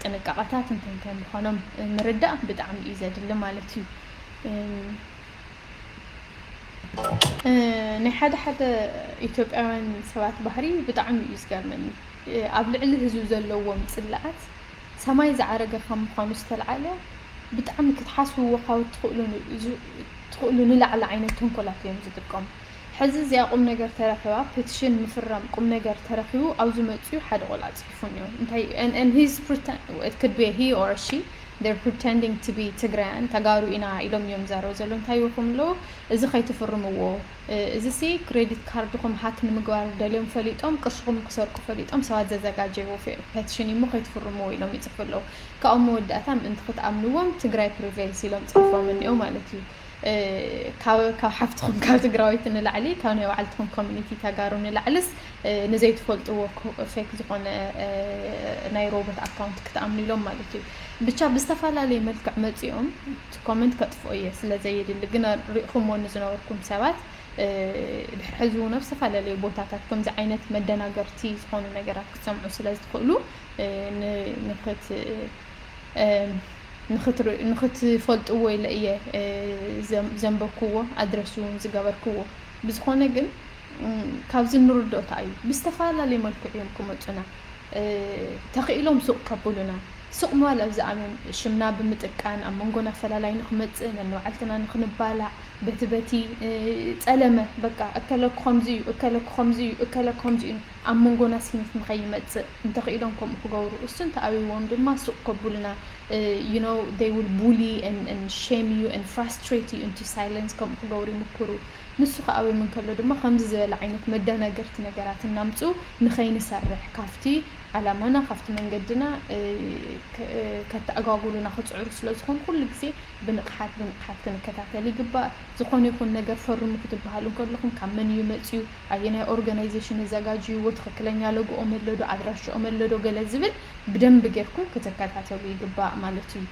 ጥንቃቐታት እንታይ እንታይ ምዃኖም ምርዳእ ብጣዕሚ እዩ ዘድሊ ማለት እዩ። ናይ ሓደ ሓደ ኢትዮጵያውያን ሰባት ባህሪ ብጣዕሚ እዩ ዝገርመኒ። ኣብ ልዕሊ ህዝቢ ዘለዎም ፅላኣት ሰማይ ዝዓረገ ካብ ምዃኑ ዝተልዓለ ብጣዕሚ ክትሓስብዎ ካብ ትኽእሉ ንላዕሊ ዓይነት ተንኮላት እዮም ዝጥቀሙ። ሕዚ እዚኣ ቁም ነገር ተረኺባ ፔቲሽን ምፍራም ቁም ነገር ተረኺቡ ኣብዚ መፅኡ ሓደ ቆልዓ ፅሒፉ እኒኦ እንታይ and he's pretend it could be he or she they're pretending to be ትግራያን ተጋሩ ኢና ኢሎም እዮም ዛረቡ ዘለዉ እንታይ ይኹም ኣለዉ እዚ ከይትፍርምዎ እዚ ሲ ክሬዲት ካርድኹም ሃክ ንምግባር ደልዮም ፈሊጦም ቅርሽኹም ክሰርቁ ፈሊጦም ሰባት ዘዘጋጀይዎ ፔቲሽን እሞ ከይትፍርምዎ ኢሎም ይፅሕፉ ኣለዉ ካብኡ መወዳእታ ምእንቲ ክትኣምንዎም ትግራይ ፕሪቬልስ ኢሎም ፅሒፎም እኒኦ ማለት እዩ ካብ ካብ ሓፍትኹም ካብ ትግራወይቲ ንላዕሊ ካብ ናይ ባዕልትኹም ኮሚኒቲ ተጋሩ ንላዕልስ ንዘይትፈልጥዎ ፌክ ዝኾነ ናይ ሮቦት ኣካውንት ክትኣምኑ ኢሎም ማለት እዩ ብቻ ብዝተፈላለየ መልክዕ መፂኦም ኮመንት ከጥፍኦ እየ ስለ ዘየድሊ ግን ሪእኹምዎ ንዝነበርኩም ሰባት ድሕሪ ሕዚ እውን ኣብ ዝተፈላለዩ ቦታታት ከምዚ ዓይነት መደናገርቲ ዝኾኑ ነገራት ክትሰምዑ ስለ ዝትኽእሉ ንክት ንክትፈልጥዎ ኢለ እየ ዘንበብክዎ ኣድረስ እውን ዝገበርክዎ ብዝኾነ ግን ካብዚ ንርድኦ እንታይ እዩ ብዝተፈላለየ መልክዕ እዮም ክመፁና ተኽኢሎም ሱቕ ከብሉና ሱቕ ምባል ኣብዚ ኣምዮም ሽምና ብምጥቃን ኣብ መንጎና ፈላላይ ንክመፅእ ነንባዕልትና ንክንባላዕ በቲ በቲ ፀለመ በቃ እከለኩ ከምዚ እዩ እከለኩ ከምዚ እዩ እከለኩ ከምዚ እዩ ኣብ መንጎና ስኒት ንኸይመፅእ እንተኽኢሎም ከምኡ ክገብሩ እሱ እንተኣብይዎም ድማ ሱቕ ከብሉና you know they will bully and, and shame you and frustrate you into silence ከምኡ ክገብሩ ይምክሩ ንሱ ከኣ ኣብዮም እንከሎ ድማ ከምዚ ዝበለ ዓይነት መደናገርቲ ነገራት እናምፅኡ ንኸይንሰርሕ ካብቲ ዓላማና ካብቲ መንገድና ከተኣጓጉሉና ክፅዕሩ ስለ ዝኾኑ ኩሉ ግዜ ብንቕሓት ብንቕሓት ክንከታተል ይግባእ። ዝኾነ ይኹን ነገር ፈርሙ ክትበሃሉ እንከለኹም ካብ መን እዩ መፅዩ፣ ኣየናይ ኦርጋናይዜሽን ኣዘጋጅይዎ፣ ትኽክለኛ ሎጎኦም ኣሎ ዶ፣ ኣድራሽኦም ኣሎ ዶ ገለ ዝብል ብደንቢ ጌርኩም ክትከታተሉ ይግባእ ማለት እዩ።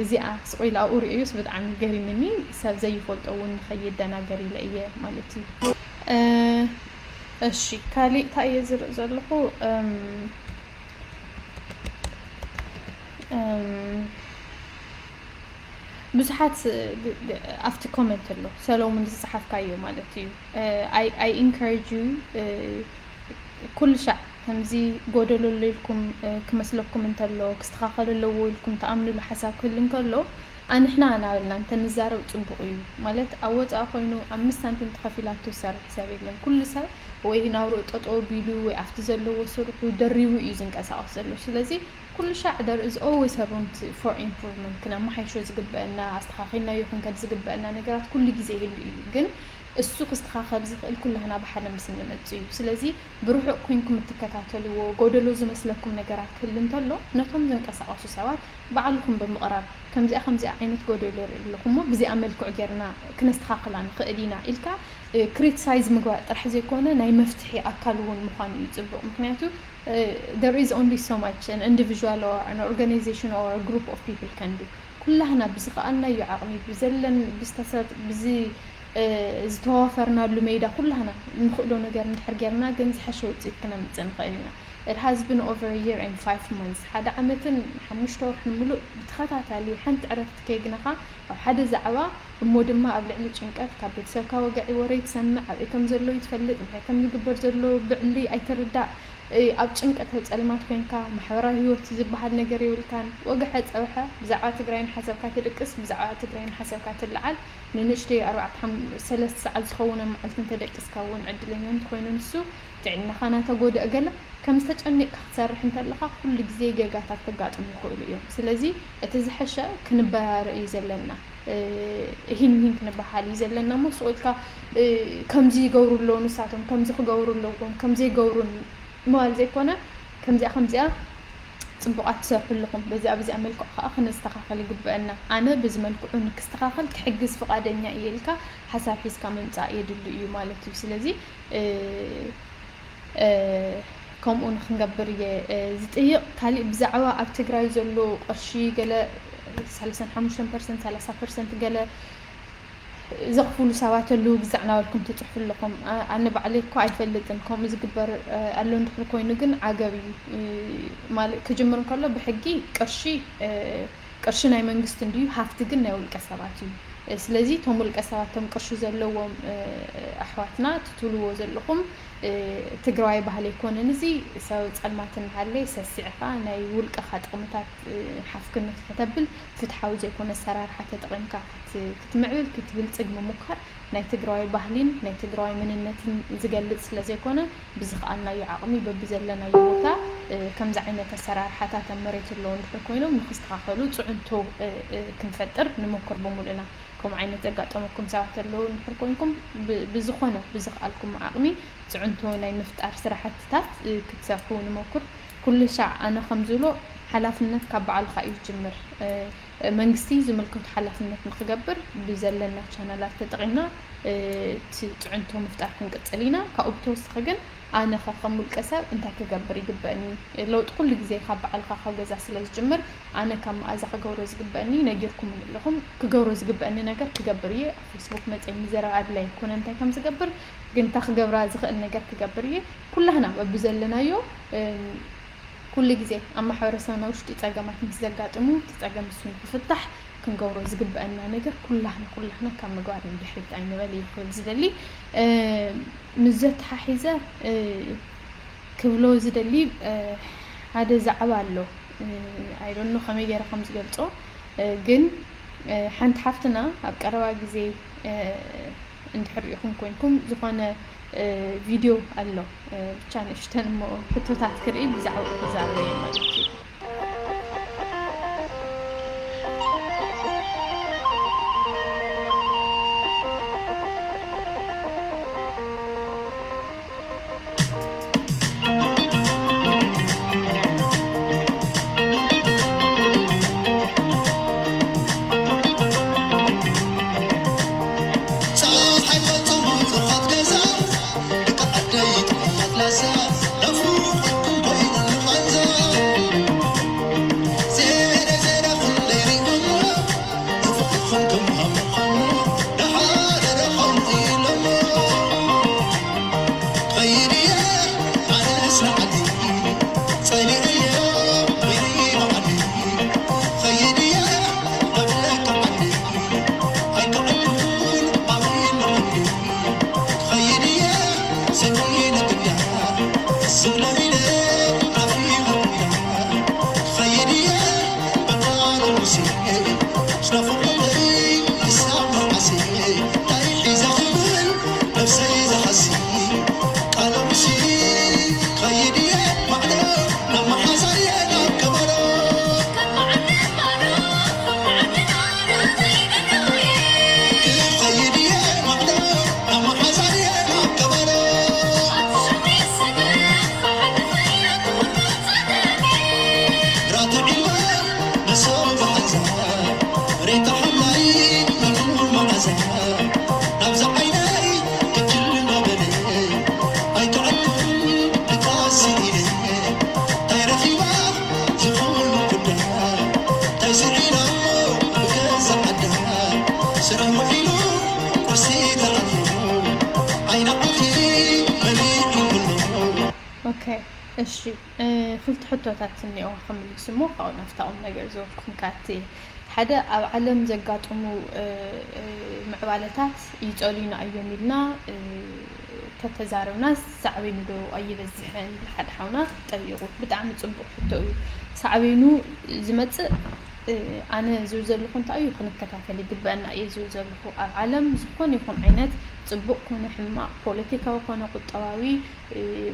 እዚኣ ስቕ ኢሉ ኣብኡ ርእዩስ ብጣዕሚ ገሪምኒ፣ ሰብ ዘይፈልጦ እውን ንኸይደናገር ኢለ እየ ማለት እዩ። እሺ ካሊእ እንታይ እየ ዝርኢ ዘለኹ? ብዙሓት ኣብቲ ኮመንት ኣሎ ሰሎሙን ዝፀሓፍካዮ ማለት እዩ። I encourage you ኩሉ ሻዕ ከምዚ ጎደሎ ኣሎ ኢልኩም ክመስለኩም እንተሎ ክስተኻኸል ኣለዎ ኢልኩም ትኣምንሉ ሓሳብ ክህል እንከሎ ኣንሕና እናበልና እንተንዛረብ ጽቡቕ እዩ። ማለት ኣብ ወጻኢ ኮይኑ ኣምስት ሳንቲም ተኸፊላቶ ዝሰርሕ ሰብ የለን። ኩሉ ሰብ ወይ ናብርኡ ጠጠው ቢሉ ወይ ኣብቲ ዘለዎ ስርሑ ደሪቡ እዩ ዝንቀሳቐስ ዘሎ። ስለዚ ኩሉ ሻዕ there is always a room to- for improvement። ክነመሓይሾ ዝግበአና፣ ኣስተኻኺልናዮ ክንከድ ዝግበአና ነገራት ኩሉ ግዜ ይህሉ እዩ። ግን እሱ ክስተኻኸል ዝኽእል ኩላህና ብሓደ ምስ እንመጽእ እዩ። ስለዚ ብርሑቕ ኮይንኩም እትከታተልዎ ጎደሎ ዝመስለኩም ነገራት ክህሉ እንተሎ ነቶም ዝንቀሳቐሱ ሰባት ባዕልኹም ብምቕራብ ከምዚኣ ከምዚኣ ዓይነት ጎደሎ ይርኢ ኣለኹ እሞ ብዚኣ መልክዑ ጌርና ክነስተኻኽላ ንኽእል ኢና ኢልካ ክሪቲሳይዝ ምግባር ጥራሕ ዘይኮነ ናይ መፍትሒ ኣካል እውን ምዃኑ እዩ ጽቡቕ። ምክንያቱ there is only so much an individual or an organization or a group of people can do። ኩላህና ብዝኸኣልናዮ ዓቕሚ ብዘለን ብዝተሰ- ብዚ ዝተዋፈርናሉ ሜዳ ኩላህና እንኽእሎ ነገር እንድሕር ጌርና ግን ዝሐሸ ውፅኢት ክነምፅእ ንኽእል ኢና። It has been over a year and five months። ሓደ ዓመትን ሓሙሽተ ወርሕን ሙሉእ ብተኸታታሊ ሓንቲ ዕረፍቲ ከይግነኻ ኣብ ሓደ ዛዕባ እሞ ድማ ኣብ ልዕሊ ጭንቀት ካብ ቤተሰብካ ወግዒ ወረ ይትሰምዕ፣ ኣብይ ከም ዘሎ ይትፈልጥ፣ እንታይ ከም ዝግበር ዘሎ ብዕሊ ኣይትርዳእ፣ ኣብ ጭንቀት ኣብ ጸልማት ኮይንካ ማሕበራዊ ህይወት ዝበሃል ነገር የብልካን። ወግሐ ጸብሐ ብዛዕባ ትግራይ ንሓሰብካ ትድቅስ፣ ብዛዕባ ትግራይ ንሓሰብካ ትለዓል። ንንእሽተይ ኣርባዕተ ሓም- ሰለስተ ሰዓት ዝኸውን ኣብ መዓልቲ እንተደቂስካ እውን ዕድለኛ እንተኾይኑ ንሱ ጥዕናኻ ናተጎድአ ገለ ከም ዝተጨኒቕካ ክትሰርሕ እንተለኻ ኩሉ ግዜ ጌጋታት ከጋጥሙ ይኽእሉ እዮም። ስለዚ እቲ ዝሐሸ ክንበራረ እዩ ዘለና። ይህን ይህን ክንበሃል እዩ ዘለና እሞ ስቕ ኢልካ ከምዚ ይገብሩ ኣለዉ ንሳቶም ከምዚ ክገብሩ ኣለዎም ከምዚ ይገብሩን ምባል ዘይኮነ ከምዚኣ ከምዚኣ ፅቡቓት ትሰርሑ ኣለኹም በዚኣ በዚኣ መልክዑ ከዓ ክነስተኻኸል ይግበአና ኣነ በዚ መልክዑ ንክስተኻኸል ክሕግዝ ፍቓደኛ እየ ኢልካ ሓሳብ ሒዝካ ምምፃእ የድሊ እዩ ማለት እዩ ስለዚ ከምኡ ንክንገብር እየ ዝጥይቕ። ካሊእ ብዛዕባ ኣብ ትግራይ ዘሎ ቅርሺ ገለ ሰላሳን ሓሙሽተን ፐርሰንት ሰላሳ ፐርሰንት ገለ ዘኽፍሉ ሰባት ኣለዉ ግዛዕ ናበልኩም ትፅሕፉ ኣለኹም። ኣነ ባዕለይ እኮ ኣይፈልጥን ከምኡ ዝግበር ኣሎ እንድሕር ኮይኑ ግን ዓገብ እዩ ማለት ክጅምር እንከሎ ብሕጊ ቅርሺ ቅርሺ ናይ መንግስቲ እንድዩ ሃፍቲ ግን ናይ ውልቀ ሰባት እዩ። ስለዚ እቶም ውልቀ ሰባት እቶም ቅርሺ ዘለዎም ኣሕዋትና ትትብልዎ ዘለኹም ትግራዋይ ባህሊ ኣይኮነን እዚ ሰብ ጸልማት እናሃለይ ሰሲዕኻ ናይ ውልቀኻ ጥቕምታት ሓፍክነት ከተብል ፍትሓዊ ዘይኮነ ኣሰራርሓ ተጠቒምካ ክትምዕብል ክትብልጽግ ምሙካር ናይ ትግራዋይ ባህሊን ናይ ትግራዋይ መንነትን ዝገልጽ ስለ ዘይኮነ ብዝኸኣልናዮ ዓቕሚ በብዘለናዮ ቦታ ከምዚ ዓይነት ኣሰራርሓታት ኣብ መሬት ኣለዉ እንድሕር ኮይኖም ንክስተኻኸሉ ፅዕንቶ ክንፈጥር ንሞክር ብምሉእና። ከምኡ ዓይነት ዘጋጠመኩም ሰባት ኣለዉ እንድሕር ኮይንኩም ብዝኾነ ብዝኸኣልኩም ዓቕሚ ፅዕንቶ ናይ ምፍጣር ስራሕትታት ክትሰርሑ ንሞክር። ኩሉ ሻዕ ኣነ ከም ዝብሎ ሓላፍነት ካብ ባዕልኻ እዩ ዝጅምር። መንግስቲ ዝምልከቱ ሓላፍነት ንክገብር ብዘለና ቻነላት ተጠቒምና እቲ ፅዕንቶ ምፍጣር ክንቅፅል ኢና። ካብኡ ብተወሳኺ ግን ኣነ ከ ከም ውልቀ ሰብ እንታይ ክገብር ይግበእኒ? ለውጢ ኩሉ ግዜ ካብ ባዕልኻ ካብ ገዛ ስለ ዝጅምር ኣነ ካብ መኣዛ ክገብሮ ዝግበእኒ ነጊርኩምኒ ኣለኹም። ክገብሮ ዝግበእኒ ነገር ክገብር እየ። ኣብ ፌስቡክ መፅየ ምዝራብ ኣድላይ ኣይኮነ እንታይ ከም ዝገብር ግን እታ ክገብራ ዝኽእል ነገር ክገብር እየ። ኩላህና በብዘለናዮ ኩሉ ግዜ ኣብ ማሕበረሰብና ውሽጢ ፀገማት ምስ ዘጋጥሙ እቲ ፀገም እሱ ንክፍታሕ ክንገብሮ ዝግበአና ነገር ኩላህና ኩላህና ካብ ምግባር ንድሕሪት ኣይንበል እዩ ክብል ዝደሊ። ምስ ዘተሓሒዘ ክብሎ ዝደሊ ሓደ ዛዕባ ኣሎ። ኣይዶኖ ከመይ ገይረ ከም ዝገልፆ ግን ሓንቲ ሓፍትና ኣብ ቀረባ ግዜ እንድሕር ሪኢኹም ኮይንኩም ዝኾነ ቪድዮ ኣሎ ብቻ ንእሽተን እሞ ሕቶታት ክርኢ ብዛዕባኡ ክዛረብ እየ ማለት እዩ። ኦኬ፣ እሺ። ክልተ ሕቶታት እኒኦ ክምልስ እሞ ካብኡ ናብታ ቁም ነገር ዝወስድኩም ካቲ። ሓደ፣ ኣብ ዓለም ዘጋጥሙ ምዕባለታት ይፀሉና እዮም ኢልና ተተዛረብና፣ ሳዕቤኑ ዶ ኣይበዝሕን? ሓደ ሓውና ጠይቁ። ብጣዕሚ ፅቡቅ ሕቶ እዩ። ሳዕቤኑ ዝመፅእ ኣነ ዝብል ዘለኹ እንታይ እዩ ክንከታተል ይግበአና እየ ዝብል ዘለኹ። ኣብ ዓለም ዝኾነ ይኹን ዓይነት ፅቡቅ ኮነ ሕማቅ፣ ፖለቲካዊ ኮነ ቁጠባዊ፣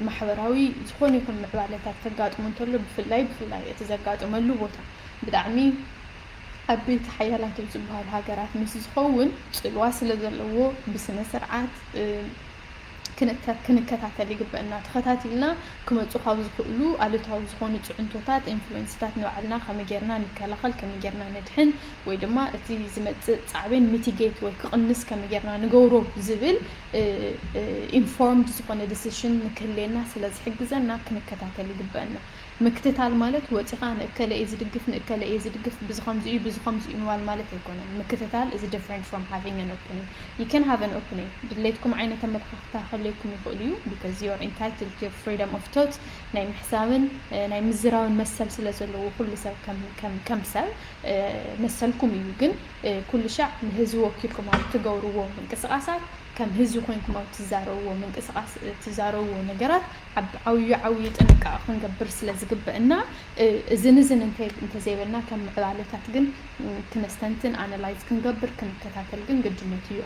ማሕበራዊ፣ ዝኾነ ይኹን ምዕባለታት ከጋጥሙ እንተሎ፣ ብፍላይ ብፍላይ እቲ ዘጋጥመሉ ቦታ ብጣዕሚ ዓበይቲ ሓያላት ኣብ ዝበሃሉ ሃገራት ምስ ዝኸውን፣ ፅልዋ ስለ ዘለዎ ብስነ ስርዓት ክንከታተል ይግበአና። ተኸታቲልና ክመፁ ካብ ዝኽእሉ ኣሉታዊ ዝኾኑ ፅዕንቶታት፣ ኢንፍሉዌንስታት ንባዕልና ከመይ ጌርና ንከላኸል፣ ከመይ ጌርና ነድሕን፣ ወይ ድማ እቲ ዝመፅእ ፃዕቤን ሚቲጌት ወይ ክቕንስ ከመይ ጌርና ንገብሮ ዝብል ኢንፎርምድ ዝኾነ ዲሲሽን ንክህልየና ስለ ዝሕግዘና ክንከታተል ይግበአና። ምክትታል ማለት ወፂኻ ንእከለ እየ ዝድግፍ፣ ንእከለ እየ ዝድግፍ፣ ብዚ ከምዚ እዩ፣ ብዚ ከምዚ እዩ ምባል ማለት ኣይኮነን። ምክትታል is different from having an opinion. You can have an opinion. ድሌትኩም ዓይነት ኣመለኻኽታ ክህልየኩም ይኽእል እዩ፣ because you are entitled to your freedom of thought፣ ናይ ምሕሳብን ናይ ምዝራብን መሰል ስለ ዘለዎ፣ ኩሉ ሰብ ከም ሰብ መሰልኩም እዩ። ግን ኩሉ ሻዕ ንህዝቢ ወኪልኩም ኣብ ትገብርዎ ምንቅስቃሳት፣ ከም ህዝቢ ኮይንኩም ኣብ ትዛረብዎ ምንቅስቃስ፣ ትዛረብዎ ነገራት ዓብዩ ዓብዩ ጥንቃቐ ክንገብር ስለ ዝግበእና፣ እዝን እዝን እንተዘይበልና፣ ከም ምዕባለታት ግን ክነስተንትን ኣናላይዝ ክንገብር ክንከታተል ግን ግድነት እዩ።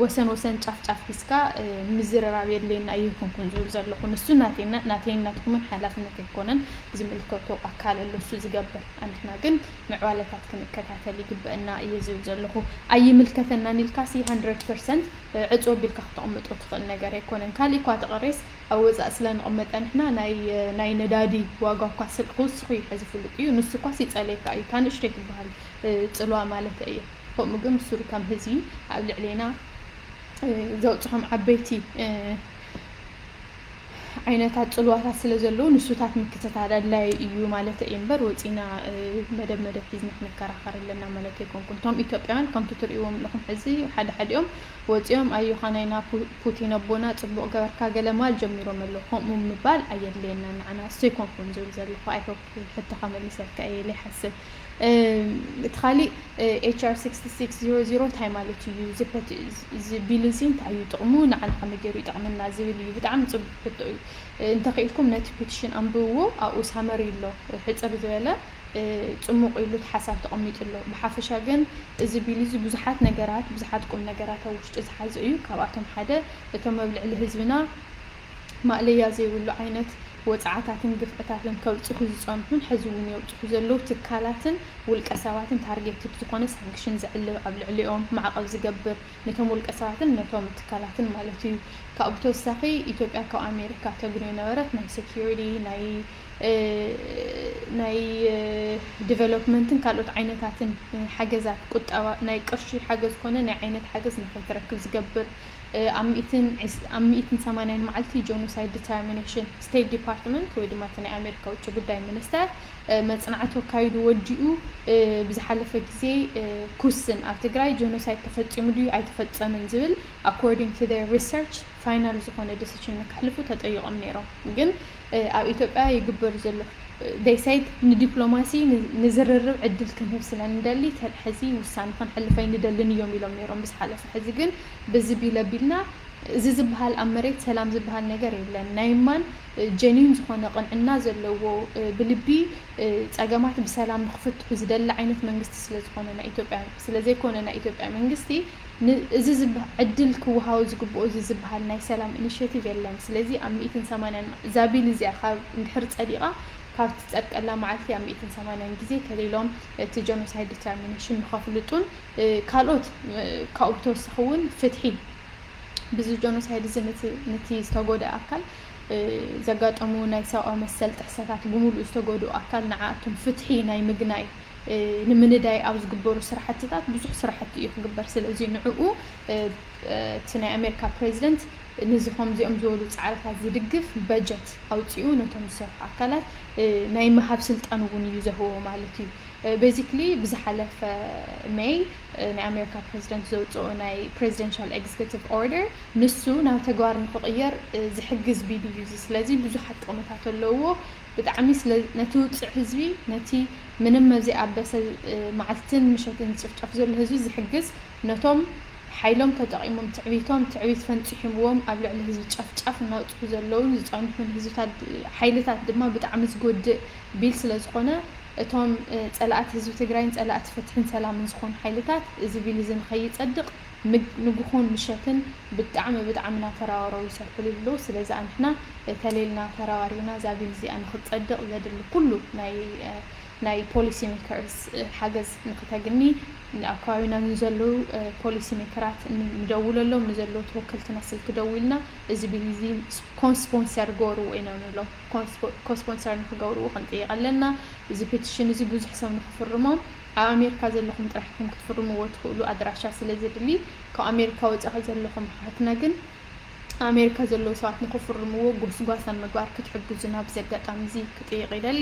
ወሰን ወሰን ጫፍ ጫፍ ሒዝካ ምዝርራብ የድልየና ኣይኮንኩን ዝብል ዘለኹ። ንሱ ናተይና፣ ናተይን ናትኩምን ሓላፍነት ኣይኮነን። ዝምልከቶ ኣካል ኣሎ እሱ ዝገብር። ኣንሕና ግን ምዕባለታት ክንከታተል ይግበአና እየ ዝብል ዘለኹ። ኣይምልከተናን ኢልካ ሲ ሃንድረድ ፐርሰንት ዕጹ ኣቢልካ ክተቕምጦ ትኽእል ነገር ኣይኮነን። ካሊእ እኳ ተቐሬስ ኣብ ወፃእ ስለ ንቕመጠ ንሕና ናይ ነዳዲ ዋጋ እኳ ስልኪ ክውስኹ እዩ ሕዚ ፍሉጥ እዩ። ንሱ እኳ ሲፀለየካ እዩ፣ እታ ንእሽተይ ትበሃል ፅልዋ ማለት እየ። ከምኡ ግን ብሱሩ ከም ህዝቢ ኣብ ልዕሌና ዘውፅሖም ዓበይቲ ዓይነታት ፅልዋታት ስለ ዘለዉ ንሱታት ምክትታል ኣድላይ እዩ ማለት እዩ እምበር ወፂና መደብ መደብ ሒዝና ክንከራኸር ኣለና ማለት ኣይኮንኩን። እቶም ኢትዮጵያውያን ከምቲ ትርእይዎም ኣለኹም ሕዚ ሓደ ሓዲኦም ወፂኦም ኣዮኻ ናይና ፑቲን ኣቦና ፅቡቕ ገበርካ ገለ ማል ጀሚሮም ኣለዉ። ከምኡ ምባል ኣየድልየና ንዓና እሱ ኣይኮንኩን ዝብል ዘለኹ። ኣይሆፕ ሕቶኻ መሊሰልካ እየ ኢለ ይሓስብ። እቲ ካሊእ ኤች ኣር ሲክስቲ ሲክስ ዜሮ ዜሮ እንታይ ማለት እዩ? እዚ ቢል እዚ እንታይ እዩ ጥቕሙ? ንዓና ከመይ ገይሩ ይጠቕመና ዝብል እዩ። ብጣዕሚ ፅቡቅ ሕቶ እዩ። እንተኽኢልኩም ነቲ ፔቲሽን ኣንብብዎ፣ ኣብኡ ሳመሪ ኣሎ፣ ሕፅር ዝበለ ፅሙቕ ኢሉ እቲ ሓሳብ ተቐሚጡ ኣሎ። ብሓፈሻ ግን እዚ ቢል እዚ ብዙሓት ነገራት፣ ብዙሓት ቁም ነገራት ኣብ ውሽጡ ዝሓዘ እዩ። ካብኣቶም ሓደ እቶም ኣብ ልዕሊ ህዝብና ማእለያ ዘይብሉ ዓይነት ወፅዓታትን ግፍዕታትን ከብፅሑ ዝፀንሑን ሕዚ እውን የብፅሑ ዘለዉ ትካላትን ውልቀ ሰባትን ታርጌትድ ዝኾነ ሳንክሽን ዘዕልብ ኣብ ልዕሊኦም ማዕቐብ ዝገብር ነቶም ውልቀ ሰባትን ነቶም ትካላትን ማለት እዩ። ካብኡ ብተወሳኺ ኢትዮጵያ ካብ ኣሜሪካ ተግንዮ ነበረት ናይ ሴኪሪቲ ናይ ናይ ዲቨሎፕመንትን ካልኦት ዓይነታትን ሓገዛት ቁጠባ ናይ ቅርሺ ሓገዝ ኮነ ናይ ዓይነት ሓገዝ ንኸይትረክብ ዝገብር ኣብ ሚእትን ሰማንያን መዓልቲ ጀኖሳይድ ዲተርሚኔሽን ስቴት ዲፓርትመንት ወይ ድማ እቲ ናይ ኣሜሪካ ውጭ ጉዳይ ሚኒስተር መፅናዕቲ ኣካይዱ ወዲኡ ብዝሓለፈ ግዜ ኩስን ኣብ ትግራይ ጀኖሳይድ ተፈፂሙ ድዩ ኣይተፈፀምን ዝብል ኣኮርዲንግ ቱ ሪሰርች ፋይናል ዝኾነ ዲሲሽን ንክሕልፉ ተጠይቆም ነይሮም። ግን ኣብ ኢትዮጵያ ይግበር ዘሎ they said ንዲፕሎማሲ ንዝርርብ ዕድል ክንህብ ስለ ንደሊ ሕዚ ውሳነ ክንሕልፍ ኣይንደልን እዮም ኢሎም ነይሮም ብዝሓለፈ። ሕዚ ግን ብዚ ቢል ኣቢልና እዚ ዝበሃል ኣብ መሬት ሰላም ዝበሃል ነገር የለን። ናይ ማን ጀኒን ዝኾነ ቅንዕና ዘለዎ ብልቢ ፀገማት ብሰላም ንክፍትሑ ዝደሊ ዓይነት መንግስቲ ስለ ዝኾነ ናይ ኢትዮጵያ ስለ ዘይኮነ ናይ ኢትዮጵያ መንግስቲ እዚ ዕድል ክወሃቦ ዝግብኦ እዚ ዝበሃል ናይ ሰላም ኢኒሽቲቭ የለን። ስለዚ ኣብ ሚእትን ሰማንያን እዛ ቢል እዚኣ ካብ እንድሕር ፀዲቓ ካብ ትፀድቀላ መዓልቲ ኣብ ሚእትን ሰማንያን ግዜ ተሊሎም እቲ ጀኖሳይድ ዲተርሚኔሽን ንኸፍልጡን ካልኦት ካብኡ ብተወሳኺ እውን ፍትሒ ብዚ ጀኖሳይድ እዚ ነቲ ዝተጎድአ ኣካል ዘጋጠሙ ናይ ሰብኣዊ መሰል ጥሕሰታት ብምሉእ ዝተጎድኡ ኣካል ንዓኣቶም ፍትሒ ናይ ምግናይ ንምንዳይ ኣብ ዝግበሩ ስራሕትታት ብዙሕ ስራሕቲ እዩ ክግበር። ስለዚ ንዕኡ እቲ ናይ ኣሜሪካ ፕሬዚደንት ንዚ ከምዚኦም ዝበሉ ፃዕርታት ዝድግፍ በጀት ኣውፂኡ ነቶም ዝሰርሑ ኣካላት ናይ ምሃብ ስልጣን እውን እዩ ዘህቦ ማለት እዩ። basically ብዝሓለፈ ሜይ ናይ ኣሜሪካ ፕሬዚደንት ዘውፅኦ ናይ presidential executive order ንሱ ናብ ተግባር ንክቕየር ዝሕግዝ ቢል እዩ። ስለዚ ብዙሓት ጥቕምታት ኣለዎ። ብጣዕሚ ነቲ ውፅዕ ህዝቢ፣ ነቲ ምንም ዘይኣበሰ መዓልትን ምሸትን ዝጭፍጨፍ ዘሎ ህዝቢ ዝሕግዝ፣ ነቶም ሓይሎም ተጠቒሞም ትዕቢቶም ትዕቢት ፈንፂሕምዎም ኣብ ልዕሊ ህዝቢ ጨፍጫፍ እናውፅሑ ዘለውን ዝፀንሑን ህዝብታት ሓይልታት ድማ ብጣዕሚ ዝጎድእ ቢል ስለዝኾነ እቶም ፀላእቲ ህዝቢ ትግራይን ፀላእቲ ፍትሕን ሰላምን ዝኾኑ ሓይልታት እዚ ቢል እዚ ንኸይፀድቕ ንጉሆን ምሸትን ብጣዕሚ ብጣዕሚ እናተራወረው ይሰርሕሉ ኣለዉ። ስለዚ ኣንሕና ተሌልና ተራዋሪና እዛ ቢል እዚኣ ንክትፀድቕ ዘድሊ ኩሉ ናይ ናይ policy makers ሓገዝ ንክተግኒ ኣብ ከባቢና ንዘለዉ policy makers ንደውለሎም፣ ንዘለዉ ተወከልትና ስልኪ ደዊልና እዚ ቢል እዚ ኮስፖንሰር ገበርዎ ኢና ንብሎም። ኮስፖንሰር ንክገብርዎ ክንጥይቕ ኣለና። እዚ ፔቲሽን እዚ ብዙሕ ሰብ ንክፍርሞ ኣብ ኣሜሪካ ዘለኹም ጥራሕ ኢኹም ክትፍርምዎ ትኽእሉ ኣድራሻ ስለ ዘድሊ ካብ ኣሜሪካ ወፃኢ ዘለኹም ኣሓትና ግን ኣሜሪካ ዘለዉ ሰባት ንክፍርምዎ ጎስጓስ ኣብ ምግባር ክትሕግዙና ብዚ ኣጋጣሚ እዚ ክጥይቕ ይደሊ።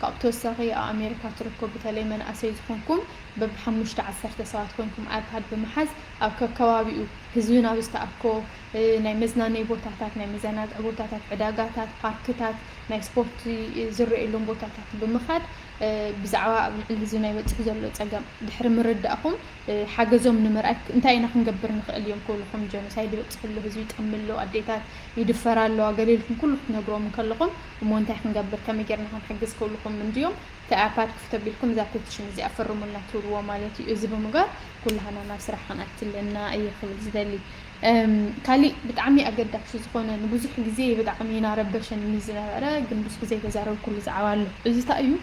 ካብኡ ተወሳኺ ኣብ ኣሜሪካ ትርከቡ በተለይ መናእሰይ ዝኾንኩም በብሓሙሽተ ዓሰርተ ሰባት ኮይንኩም ኣይፓድ ብምሓዝ ኣብ ከከባቢኡ ህዝቢ ናብ ዝተኣኮ ናይ መዝናነይ ቦታታት፣ ናይ መዘናግዒ ቦታታት፣ ዕዳጋታት፣ ፓርክታት፣ ናይ ስፖርት ዝረኣየሎም ቦታታት ብምኻድ ብዛዕባ ኣብ ልዕሊ ህዝቢ ናይ በፅሕ ዘሎ ፀገም ድሕሪ ምርዳእኹም ሓገዞም ንምርኣይ እንታይ ኢና ክንገብር ንኽእል እዮም ክብልኹም ጀኖሳይድ ይበፅሕ ኣሎ፣ ህዝቢ ይጠሚ ኣሎ፣ ኣዴታት ይድፈራ ኣለዋ ገለ ኢልኩም ኩሉ ክትነግሮም እንከለኹም እሞ እንታይ ክንገብር ከመይ ጌርና ክንሕግዝ ክብልኹም እንድዮም እቲ ኣይፓድ ክፍት ኣቢልኩም እዛ ፔቲሽን እዚኣ ፈርሙልና ትብልዎ ማለት እዩ። እዚ ብምግባር ኩላህና ናብ ስራሕ ክንኣቲ ኣለና እየ ክብል ዝደሊ። ካሊእ ብጣዕሚ ኣገዳሲ ዝኾነ ንብዙሕ ግዜ ብጣዕሚ እናረበሸኒ ዝነበረ ግን ብዙሕ ግዜ ተዛረብኩሉ ዛዕባ ኣሎ። እዚ እንታይ እዩ?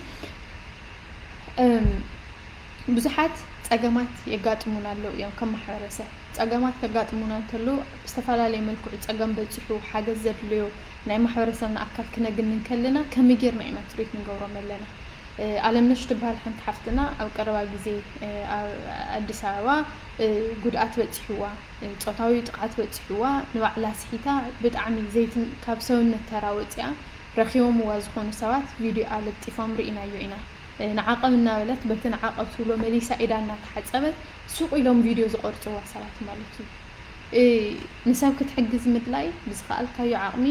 ብዙሓት ፀገማት የጋጥሙና ኣለዉ እዮም። ከም ማሕበረሰብ ፀገማት ከጋጥሙና እንተለዉ ብዝተፈላለየ መልክዑ ፀገም በፂሑ ሓገዝ ዘድልዮ ናይ ማሕበረሰብና ኣካል ክነግኒ እንከለና ከመይ ጌርና ኢና ትሪት ንገብሮም ኣለና? ኣለምነሽ ትበሃል ሓንቲ ሓፍትና ኣብ ቀረባ ግዜ ኣብ ኣዲስ ኣበባ ጉድኣት በፂሕዋ፣ ፆታዊ ጥቕዓት በፂሕዋ ንባዕላ ስሒታ ብጣዕሚ ዘይትን ካብ ሰውነት ተራ ወፂኣ ረኺቦምዋ ዝኾኑ ሰባት ቪድዮኣ ለጢፎም ርኢናዮ ኢና። ንዓቐብ እናበለት በቲ ንዓቐብ ትብሎ መሊሳ ኢዳ እናተሓፀበት ሱቕ ኢሎም ቪድዮ ዝቐርፅዋ ሰባት ማለት እዩ። ንሰብ ክትሕግዝ ምድላይ ብዝኸኣልካዮ ዓቕሚ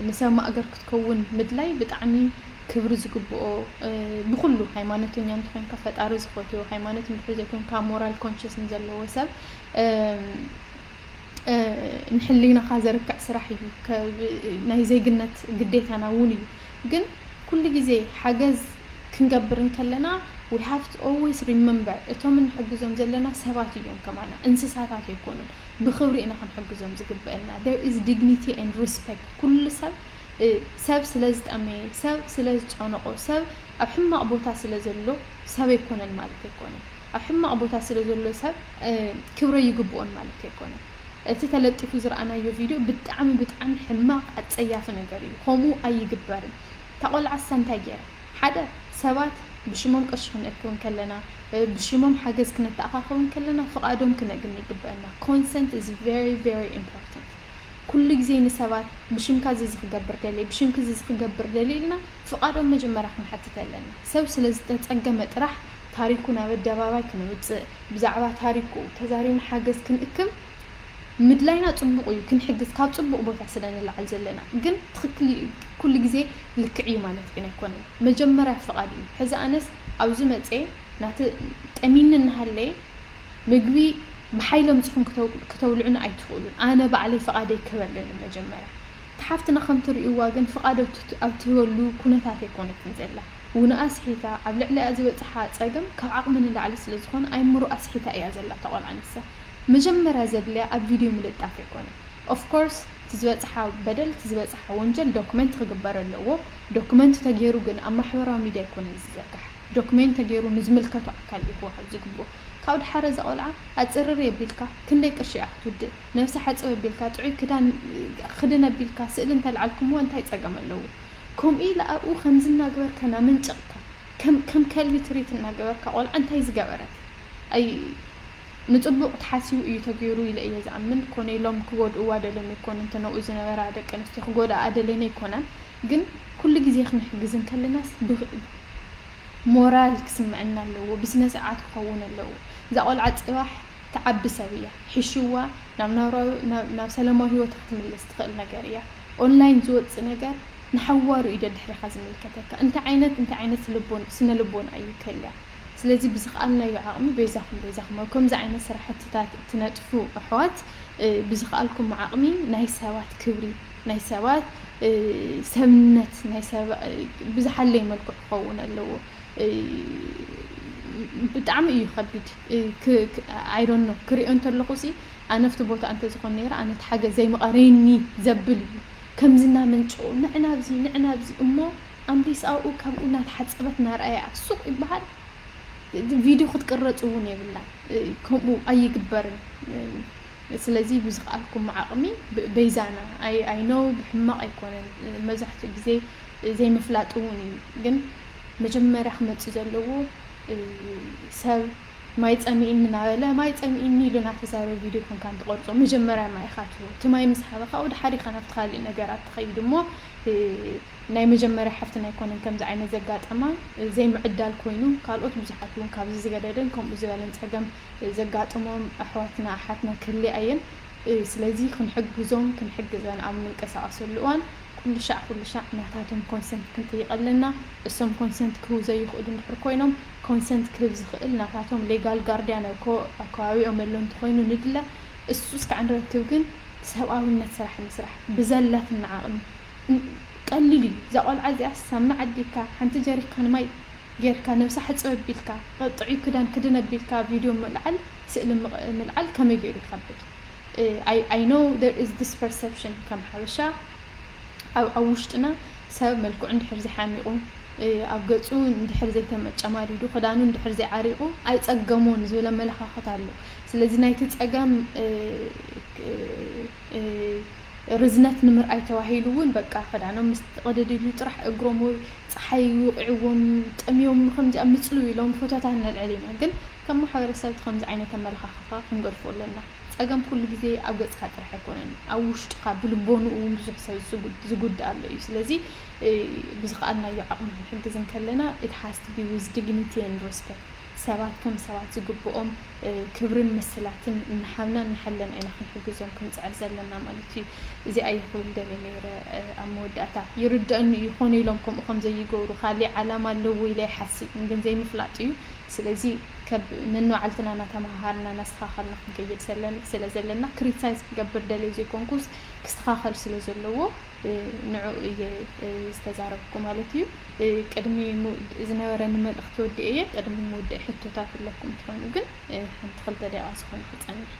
ንሰብ ማእገር ክትከውን ምድላይ ብጣዕሚ ክብሪ ዝግብኦ ብኩሉ ሃይማኖተኛ እንተኮንካ ፈጣሪ ዝፈትዮ ሃይማኖት እንድሕር ዘይኮንካ ሞራል ኮንሽስ ንዘለዎ ሰብ ንሕሊናኻ ዘርክዕ ስራሕ እዩ። ናይ ዜግነት ግዴታና እውን እዩ። ግን ኩሉ ግዜ ሓገዝ ክንገብር እንከለና we have to always remember እቶም እንሕግዞም ዘለና ሰባት እዮም ከማና፣ እንስሳታት ኣይኮኑን። ብክብሪ ኢና ክንሕግዞም ዝግበአና። There is dignity and respect። ኩሉ ሰብ ሰብ ስለ ዝጠመየ፣ ሰብ ስለ ዝጨነቆ፣ ሰብ ኣብ ሕማቕ ቦታ ስለ ዘሎ ሰብ ኣይኮነን ማለት ኣይኮነን። ኣብ ሕማቕ ቦታ ስለ ዘሎ ሰብ ክብረ ይግብኦን ማለት ኣይኮነን። እቲ ተለጢፉ ዝረኣናዮ ቪድዮ ብጣዕሚ ብጣዕሚ ሕማቕ ኣፀያፊ ነገር እዩ። ከምኡ ኣይግበርን። እታ ቆልዓ እሳ እንታይ ገይራ? ሓደ ሰባት ብሽሞም ቅርሺ ክንእክብ እንከለና፣ ብሽሞም ሓገዝ ክነተኣኻኸብ እንከለና ፍቓዶም ክነግኒ ይግበአና። Consent is very very important። ኩሉ ግዜ ንሰባት ብሽምካ እዚ ክገብር ደልየ፣ ብሽምኪ እዚ ክገብር ደልየ ኢልና ፍቓዶም መጀመርያ ክንሓትት ኣለና። ሰብ ስለ ዝተፀገመ ጥራሕ ታሪኩ ናብ ኣደባባይ ክነውፅእ፣ ብዛዕባ ታሪኩ ተዛሪብና ሓገዝ ክንእክብ ምድላይና ፅቡቕ እዩ፣ ክንሕግዝ ካብ ፅቡቕ ቦታ ስለ ንለዓል ዘለና። ግን ትኽክል ኩሉ ግዜ ልክዕ እዩ ማለት ግን ኣይኮነን። መጀመርያ ፍቓድ እዩ። ሕዚ ኣነስ ኣብዚ መፅየ ናተ ጠሚኒ እናሃለየ ምግቢ ብሓይሊ ኣምፂኹም ክተው- ክተብልዑኒ ኣይትኽእሉን። ኣነ ባዕለይ ፍቓደይ ክህብ ኣለኒ መጀመርያ። እቲ ሓፍትና ከም ትርእይዋ ግን ፍቓድ ኣብ ትት- ኣብ ትህበሉ ኩነታት ኣይኮነትን ዘላ። ውንኣ ኣስሒታ ኣብ ልዕሊኣ ዝበፅሓ ፀገም ካብ ዓቕሚ ንላዕሊ ስለ ዝኾነ ኣይምሮ ኣስሒታ እያ ዘላ እታ ቆልዓ ንሳ። መጀመርያ ዘድልያ ኣብ ቪድዮ ምልጣፍ ኣይኮነን። Of course እቲ ዝበፅሓ በደል እቲ ዝበፅሓ ወንጀል ዶክመንት ክግበር ኣለዎ። ዶክመንት ተገይሩ ግን ኣብ ማሕበራዊ ሚድያ ኣይኮነን ዝዘርጋሕ። ዶክሜንት ተገይሩ ንዝምልከቶ ኣካል እዩ ክወሃብ ዝግብኦ። ካብኡ ድሓር እዛ ቆልዓ ኣፅርር የቢልካ ክንደይ ቅርሺ እያ ክትውድእ? ነብሲ ሓፅብ ኣቢልካ ጥዑይ ክዳን ክድን ኣቢልካ ስእሊ እንተልዓልኩምዎ እንታይ ፀገም ኣለዎ? ከምኡ ኢለ ኣብኡ ከምዚ እናግበርካ ናመንጨቕካ ከም ከም ከልቢ ትሪት እናገበርካ ቆልዓ እንታይ ዝገበረት? ኣይ ንፅቡቕ ተሓሲቡ እዩ ተገይሩ ኢለ እየ ዝኣምን። ኮነ ኢሎም ክጎድእዋ ደልዮም ኣይኮኑን። እተን ኣብኡ ዝነበራ ደቂ ኣንስትዮ ክጎድኣ ደልየን ኣይኮናን። ግን ኩሉ ግዜ ክንሕግዝ እንከለናስ ብኽ- ሞራል ክስምዐና ኣለዎ፣ ብስነ ስርዓት ክኸውን ኣለዎ። እዛ ቆልዓ ፅባሕ ትዓቢ ሰብ እያ። ሒሽዋ ናብ ናብራዊ-፣ ናብ፣ ናብ ሰላማዊ ህይወታ ክትምለስ ትኽእል ነገር እያ። ኦንላይን ዝወፅእ ነገር ንሓዋሩ እዩ ደድሕሪኻ ዝምልከተካ። እንታይ ዓይነት፣ እንታይ ዓይነት ልቦን-፣ ስነ ልቦና እዩ ከልያ? ስለዚ ብዝኸኣልናዮ ዓቕሚ በይዛኹም፣ በይዛኹም ኣብ ከምዚ ዓይነት ስራሕትታት እትነጥፉ ኣሕዋት፣ እ፣ ብዝኸኣልኩም ዓቕሚ ናይ ሰባት ክብሪ፣ ናይ ሰባት፣ እ፣ ሰብነት፣ ናይ ሰባ-፣ እ፣ ብዝሓለየ መልክዑ ክኸውን ኣለዎ። እ፣ ብጣዕሚ እዩ ከቢድ። እ፣ ክ-፣ ክ-፣ I don't know፣ ክሪኦ እንተለኹ ሲ፣ ኣነ ኣብቲ ቦታ እንተዝኾን ነይረ፣ ኣነ እቲ ሓገዝ ዘይምቐረየኒ ዘብል እዩ። ከምዚ እናመንጨቑ፣ ንዕና ኣብዚ፣ ንዕና ኣብዚ፣ እሞ ኣምሊስ ኣብኡ ካብኡ እናተሓፀበት እናረኣየ ኣብ ሱቕ ይበሃል። ቪድዮ ክትቅረፅ እውን የብላን። እ፣ ከምኡ ኣይግበርን። እ፣ ስለዚ ብዝኸኣልኩም ዓቕሚ ብ-፣ በይዛና። ኣይ፣ ኣይ ኖው ብሕማቕ ኣይኮነን። እ፣ መብዛሕትኡ ግዜ ዘይምፍላጥ እውን እዩ። ግን መጀመርያ ክመፅእ ዘለዎ፣ እ፣ ሰብ ማይ ጸሚእኒ እናበለ፣ ማይ ጸሚእኒ ኢሉ እናተዛረበ ቪድዮ ኮንካ እንትቐርጾ፣ መጀመርያ ማይ ኢኻ ትህቦ። እቲ ማይ ምስ ሃበኻ፣ ወደ ሓዲኻ ናብቲ ካልእ ነገራት ትኸይድ እሞ፣ እ፣ ናይ መጀመርያ ሓፍትና ኣይኮነን ከምዚ ዓይነት ዘጋጠማ፣ እ፣ ዘይምዕዳል ኮይኑ፣ ካልኦት ብዙሓት እውን ካብዚ ዝገደደን ከምኡ ዝበለን ጸገም፣ እ፣ ዘጋጥሞም ኣሕዋትና ኣሓትና ክህልያ እየን። እ፣ ስለዚ ክንሕግዞም፣ ክንሕግዘን ኣብ እንንቀሳቐሰሉ እዋን፣ ኩሉ ሻዕ፣ ኩሉ ሻዕ ናታቶም ኮንሰንት ክንጥይቕ ኣለና። እሶም ኮንሰንት ክህቡ ዘይኽእሉ እንድሕር ኮይኖም፣ ኮንሰንት ክህብ ዝኽእል ናታቶም ሌጋል ጋርድያን ኣብ ኮ-፣ ኣብ ከባቢኦም ዘሎ እንተኾይኑ ንድለ። እሱ እስካዕ ንረክብ ግን ሰብኣዊነት ስራሕ ንስራሕ፣ ብዘላትና ዓቕሚ። ን-፣ ቀሊል እዩ። እዛ ቆልዓ እዚኣ ሳምና ዓዲግካ፣ ሓንቲ ጀሪካን ማይ ጌርካ፣ ነብሳ ሕጽብ ኣቢልካ፣ ጥዑይ ክዳን ክድን ኣቢልካ፣ ቪድዮ ምልዓል፣ ስእሊ ምቕ-፣ ምልዓል ከመይ ገይሩ ይኸብድ? እ፣ I፣ I know there is this perception ከም ሓበሻ፣ ኣብ፣ ኣብ ውሽጥና ሰብ መልክዑ እንድሕር ዘይሓሚቑ፣ እ፣ ኣብ ገጹ እንድሕር ዘይተመጨማዲዱ፣ ክዳኑ እንድሕር ዘይዓሪቑ ኣይጸገሞን ዝብል ኣመለኻኽታ ኣሎ። ስለዚ ናይቲ ጸገም፣ እ፣ እ፣ እ፣ ርዝነት ንምርኣይ ተባሂሉ እውን በቃ ክዳኖም ምስ ተቐደደ ኢሉ ጥራሕ እግሮም ወይ ጸሓይ ይውቕዕዎም፣ ጠምዮም፣ ከምዚኣ ምጽልው ኢሎም ፎቶታት ነልዕል ኢና። ግን ከም ማሕበረሰብ እቲ ከምዚ ዓይነት ኣመለኻኽታ ክንገድፎ ኣለና። ጸገም ኩሉ ግዜ ኣብ ገጽካ ጥራሕ ኣይኮነን፣ ኣብ ውሽጥኻ ብልቦንኡ እውን ብዙሕ ሰብ ዝጉድ-፣ ዝጉዳእ ኣሎ እዩ። ስለዚ፣ እ፣ ብዝኸኣልናዮ ዓቕሚ ክንሕግዝ እንከለና፣ it has to be with dignity and respect። ሰባት ከም ሰባት ዝግብኦም፣ እ፣ ክብርን መሰላትን እናሃብና እናሓለና ኢና ክንሕግዞም ክንጽዕር ዘለና ማለት እዩ። እዚኣ እየ ክብል ደልየ ነይረ፣ እ፣ ኣብ መወዳእታ። ይርደአኒ እዩ፣ ኮነ ኢሎም ከምኡ ከም ዘይገብሩ፣ ካልእ ዓላማ ኣለዎ ኢለ ኣይሓስብን፣ ግን ዘይምፍላጥ እዩ። ስለዚ ከብ-፣ ነንባዕልትና እናተመሃሃርና እናስተኻኸልና ክንከይድ ሰለን-፣ ስለ ዘለና፣ ክሪቲሳይዝ ክገብር ደልየ ዘይኮንኩስ፣ ክስተኻኸል ስለ ዘለዎ፣ እ፣ ንዕኡ እየ፣ እ፣ ዝተዛረብኩ ማለት እዩ። እ፣ ቅድሚ ሙ-፣ ዝነበረኒ መልእኽቲ ወዲኤ እየ። ቅድሚ ምውዳእ ሕቶታት ኣለኩም ትኾኑ ግን፣ እ፣ ሓንቲ ክልተ ደቂቓ ዝኾነ ክጸንሕ።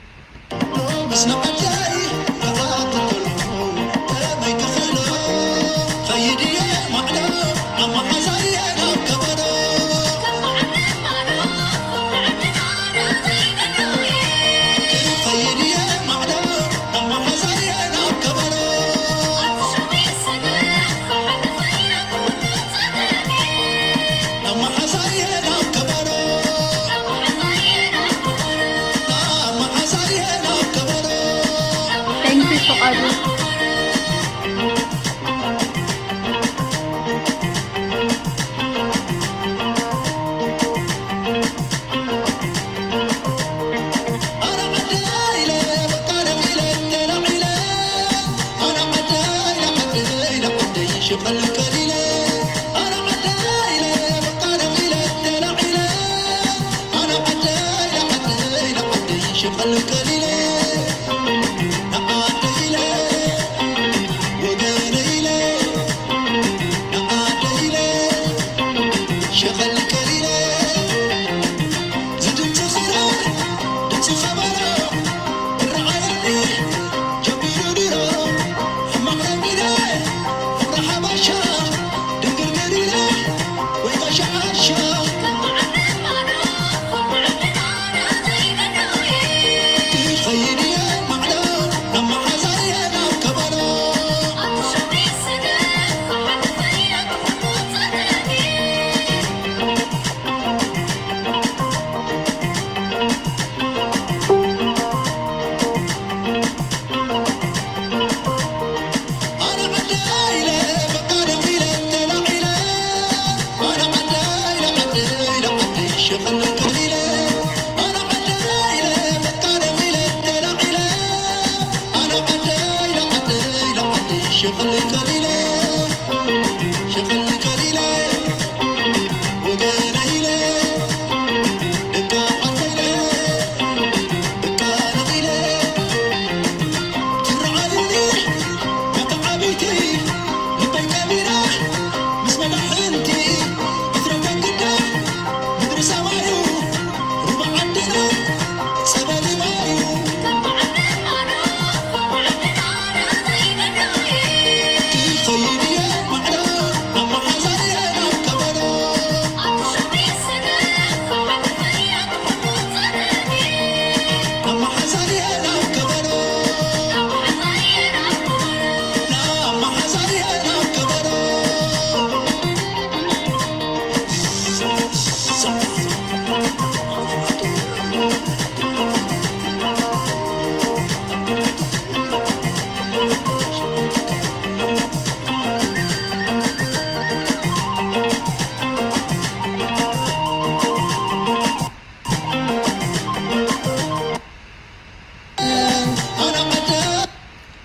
Thank you ፍቓዱ። ሸቕል ከሊለ ሸቕል ከሊለ ወገነ ኢለ ደቂ ዓርሰ ኢለ ደቂ ኣረቕ ኢለ ትርዓድኒ በቲ ዓበይቲ ልበይ ቀቢረ ምስ መዳሕንቲ እትረከብ ግዳ ምድሪ ሰማዩ ሩባ ዓድና ጸበል ማዩ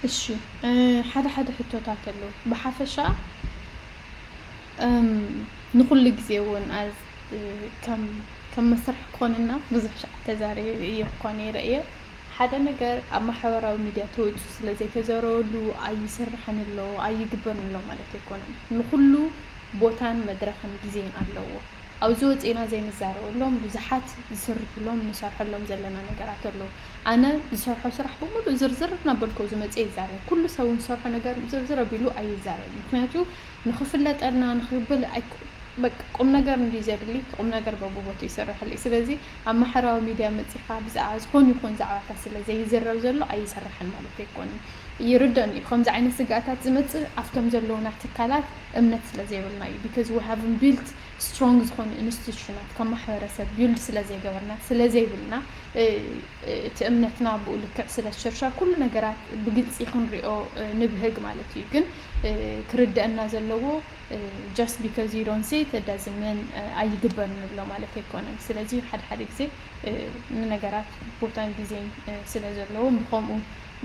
እሺ ሓደ ሓደ ሕቶታት ኣለዉ። ብሓፈሻ ንኩሉ ግዜ እውን ከም መስርሕ ክኾንና ብዙሕ ሻዕ ተዛሪበ እየ ክኾን ይረ እየ ሓደ ነገር ኣብ ማሕበራዊ ሚድያ ተወፂኡ ስለ ዘይተዘረበሉ ኣይስርሕን ኣሎ ኣይግበርን ኣሎ ማለት ኣይኮነን። ንኩሉ ቦታን መድረኽን ግዜን ኣለዎ። ኣብዚ ወፂእና ዘይንዛረበሎም ብዙሓት ዝስርሕሎም ንሰርሐሎም ዘለና ነገራት ኣለዉ። ኣነ ዝሰርሖ ስራሕ ብምሉእ ዝርዝር እናበልኩ ኣብዚ መፅየ ይዛረብ። ኩሉ ሰብ እውን ዝሰርሖ ነገር ዝርዝር ኣቢሉ ኣይዛረብን። ምክንያቱ ንክፍለጠልና ንክብል ኣይኮ በቃ ቁም ነገር እንድዩ ዘድሊ እቲ ቁም ነገር በብቦትኡ ይስረሐሉ እዩ። ስለዚ ኣብ ማሕበራዊ ሚድያ መፂኻ ብዛዕባ ዝኾነ ይኹን ዛዕባታት ስለ ዘይዝረብ ዘሎ ኣይስራሕን ማለት ኣይኮነን። ይርደኣኒ እዩ ከምዚ ዓይነት ስግኣታት ዝመፅእ ኣብቶም ዘለዉና ትካላት እምነት ስለ ዘይብልና እዩ። Because we haven't built strong ዝኾኑ ኢንስቲቱሽናት ከም ማሕበረሰብ build ስለ ዘይገበርና ስለ ዘይብልና እቲ እምነትና ብኡ ልክዕ ስለ ዝሽርሸር ኩሉ ነገራት ብግልፂ ክንሪኦ ንብህግ ማለት እዩ። ግን ክርደኣና ዘለዎ just because you don't say it it doesn't mean ኣይግበርን ንብሎ ማለት ኣይኮነን። ስለዚ ሓደ ሓደ ግዜ ንነገራት ቦታን ግዜን ስለ ዘለዎም ብኸምኡ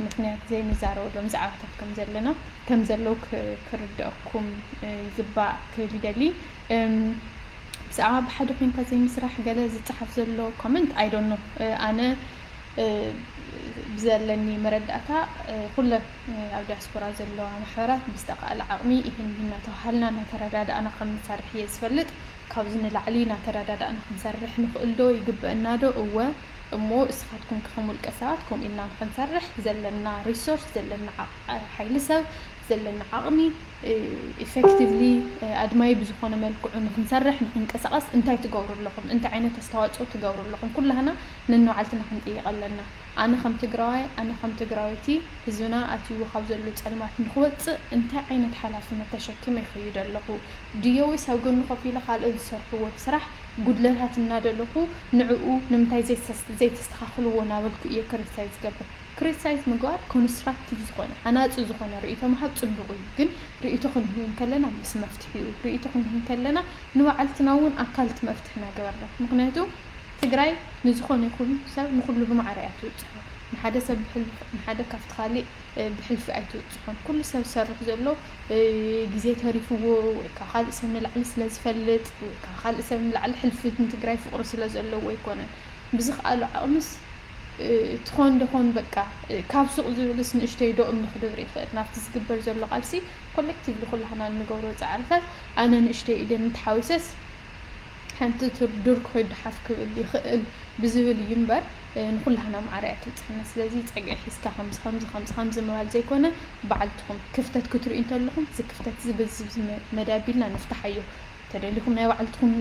ምኽንያት ዘይንዛረበሎም ዛዕባታት ከም ዘለና ከም ዘለዉ ክርደኣኩም ይግባእ ክብል ይደሊ። ብዛዕባ ብሓደ ኮይንካ ዘይምስራሕ ገለ ዝፀሓፍ ዘሎ comment I don't know ኣነ ብዘለኒ መረዳእታ ኩለን ኣብ ዲያስፖራ ዘለዋ ማሕበራት ብዝተኻእለ ዓቕሚ ይህን ይህን እናተባሃልና እናተረዳዳእና ከም ንሰርሕ እየ ዝፈልጥ። ካብዚ ንላዕሊ እናተረዳዳእና ክንሰርሕ ንኽእል ዶ? ይግበአና ዶ? እወ እሞ እስኻትኩም ከ ከም ውልቀ ሰባት ከምኡ ኢልና ንኽንሰርሕ ዘለና resource ዘለና ሓይሊ ሰብ ዘለና ዓቕሚ effectively ኣድማዪ ብዝኾነ መልክዑ ንኽንሰርሕ ንኽንቀሳቐስ እንታይ ትገብሩ ኣለኹም? እንታይ ዓይነት ኣስተዋፅኦ ትገብሩ ኣለኹም? ኩላህና ነንባዕልትና ክንጥይቕ ኣለና። ኣነ ከም ትግራዋይ ኣነ ከም ትግራወይቲ ህዝብና ኣትይዎ ካብ ዘሎ ፀልማት ንኽወፅእ እንታይ ዓይነት ሓላፍነት ተሸኪመ ይኸይድ ኣለኹ? ድየ ወይስ ኣብ ጎኒ ኮፍ ኢለ ካልኦት ዝሰርሕዎ ስራሕ ጉድለታት እናደለኹ ንዕኡ ንምንታይ ዘይተስተኻኽልዎ እናበልኩ እየ criticize ዝገብር። Criticize ምግባር constructive ዝኾነ ሃናፂ ዝኾነ ርእይቶ ምሃብ ፅቡቕ እዩ። ግን ርእይቶ ክንህብ እንከለና ምስ መፍትሒኡ ርእይቶ ክንህብ እንከለና ንባዕልትና እውን ኣካል እቲ መፍትሒ እናገበርና ምኽንያቱ ትግራይ ንዝኾነ ይኹን ሰብ ንኹሉ ብማዕረ እያ ትብፅሖ። ንሓደ ሰብ ብሕልፊ ንሓደ ካብቲ ካሊእ ብሕልፊ ኣይትብፅሖን። ኩሉ ሰብ ዝሰርሕ ዘሎ ግዜ ተሪፍዎ ወይ ካብ ካልእ ሰብ ንላዕሊ ስለ ዝፈልጥ ወይ ካብ ካልእ ሰብ ንላዕሊ ሕልፊ ንትግራይ ፍቕሪ ስለ ዘለዎ ኣይኮነን። ብዝኽኣሎ ዓቕምስ ትኾን ደኾን በቃ ካብ ሱቕ ዝብልስ ንእሽተይ ዶ እምኒ ክድብር ይኽእል። ናብቲ ዝግበር ዘሎ ቃልሲ collectively ኩላህና እንገብሮ ፃዕርታት ኣነ ንእሽተይ ኢለ እንተሓዊሰስ ሓንቲ ትርዱር ክኾይ ደሓፍ ክብል ይኽእል ብዝብል እዩ እምበር ንኩላህና ማዕረ እያ ትብፅሐና። ስለዚ ፀግዒ ሒዝካ ከምዚ ከምዚ ከምዚ ከምዚ ምባል ዘይኮነ ባዕልትኹም ክፍተት ክትርእዩ እንተለኹም እዚ ክፍተት እዚ በዚ በዚ መዳይ ኣቢልና ንፍትሓዮ። ተደሊኹም ናይ ባዕልትኹም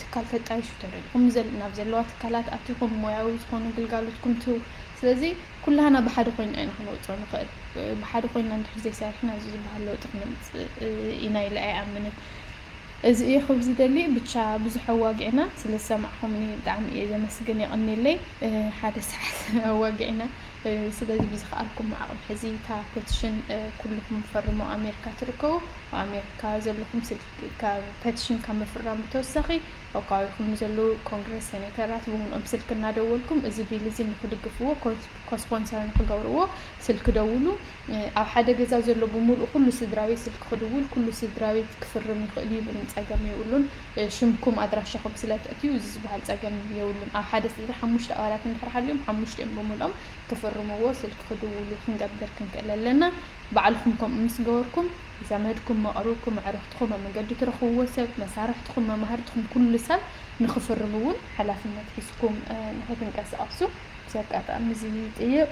ትካል ተጣይሹ፣ ተደሊኹም ናብ ዘለዋ ትካላት ኣቲኹም ሞያዊ ዝኾኑ ግልጋሎትኩም ትህቡ። ስለዚ ኩላህና ብሓደ ኮይንና ኢና ክነውፅኦ ንኽእል። ብሓደ ኮይንና እንድሕር ዘይሰሪሕና እዚ ዝበሃል ለውጢ ክነምፅእ ኢና ኢለ ኣይኣምንን። እዚ እየ ክብል ዝደሊ። ብቻ ብዙሕ ኣዋጊዕና ስለ ዝሰማዕኹምኒ ብጣዕሚ እየ ዘመስግን። የቐንየለይ። ሓደ ሰዓት ኣዋጊዕና። ስለዚ ብዝኸኣልኩም ዓቕሚ ሕዚ እታ ፔቲሽን ኩልኹም ፈርሞ ኣሜሪካ ትርከቡ። ኣብ ኣሜሪካ ዘለኹም ስልክ ካብ ፔቲሽን ካብ ምፍራም ብተወሳኺ ኣብ ከባቢኹም ንዘለዉ ኮንግረስ ሴኔተራት ብምልኦም ስልክ እናደወልኩም እዚ ቢል እዚ ንክድግፍዎ ኮስፖንሰር ንክገብርዎ ስልክ ደውሉ። ኣብ ሓደ ገዛ ዘሎ ብምሉእ ኩሉ ስድራ ቤት ስልኪ ክድውል ኩሉ ስድራ ቤት ክፍርም ይኽእል እዩ። ምንም ጸገም የብሉን። ሽምኩም ኣድራሻኹም ስለ ተእትዩ እዚ ዝበሃል ጸገም የብሉን። ኣብ ሓደ ስድራ ሓሙሽተ ኣባላት እንድሕር ሃልዮም ሓሙሽቲኦም ብምልኦም ክፍርምዎ ስልኪ ክድውሉ ክንገብር ክንክእል ኣለና። ባዕልኹም ከምኡ ምስ ገበርኩም ዘመድኩም፣ መቕርብኩም፣ ኣዕርኽትኹም፣ ኣብ መንገዲ ትረኽብዎ ሰብ፣ መሳርሕትኹም፣ መማህርትኹም ኩሉ ሰብ ንክፍርም እውን ሓላፍነት ሒዝኩም ንክትንቀሳቐሱ እዚ ኣጋጣሚ እዚ ይጥይቕ።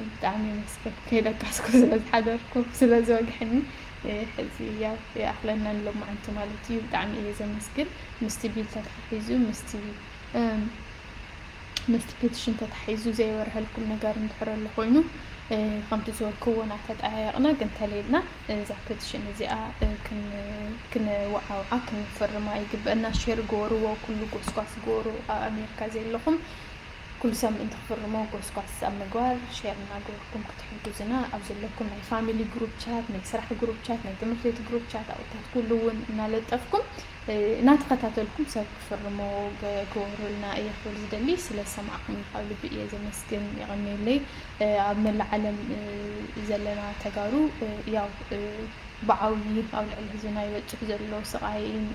ብጣዕሚ የመስግን ከይደቀስኩ ስለ ዝሓደርኩ ስለ ዝወግሐኒ። ሕዚ ያው ይኣኽለና ንሎማዓንቲ ማለት እዩ። ብጣዕሚ እየ ዘመስግን። ምስቲ ቢል ተተሓሒዙ ምስቲ ምስቲ ፔቲሽን ተታሒዙ ዘይበርሀልኩም ነገር እንድሕር ኣሎ ኮይኑ ከምቲ ዝበልክዎ እናተጠያየቕና ግን ተለይልና እዛ ፔቲሽን እዚኣ ክንወዓውዓ ክንፈርማ ይግበአና። ሼር ግበርዎ፣ ኩሉ ጎስጓስ ግበሩ። ኣብ ኣሜሪካ ዘለኹም ኩሉ ሰብ ምእንቲ ክፍርሞ ጎስጓስ ኣብ ምግባር ሼር እናገበርኩም ክትሕግዙና ኣብ ዘለኩም ናይ ፋሚሊ ግሩፕ ቻት፣ ናይ ስራሕ ግሩፕ ቻት፣ ናይ ትምህርቲ ቤት ግሩፕ ቻት ኣብታት ኩሉ እውን እናለጠፍኩም እናተኸታተልኩም ሰብ ክፍርሞ ግበሩልና እየ ክብል ዝደሊ። ስለ ዝሰማዕኩም ካብ ልቢ እየ ዘመስግን። የቐንየለይ። ኣብ መላእ ዓለም ዘለና ተጋሩ ያው ብዓብዪ ኣብ ልዕሊ ህዝብና ይበፅሕ ዘሎ ስቓይን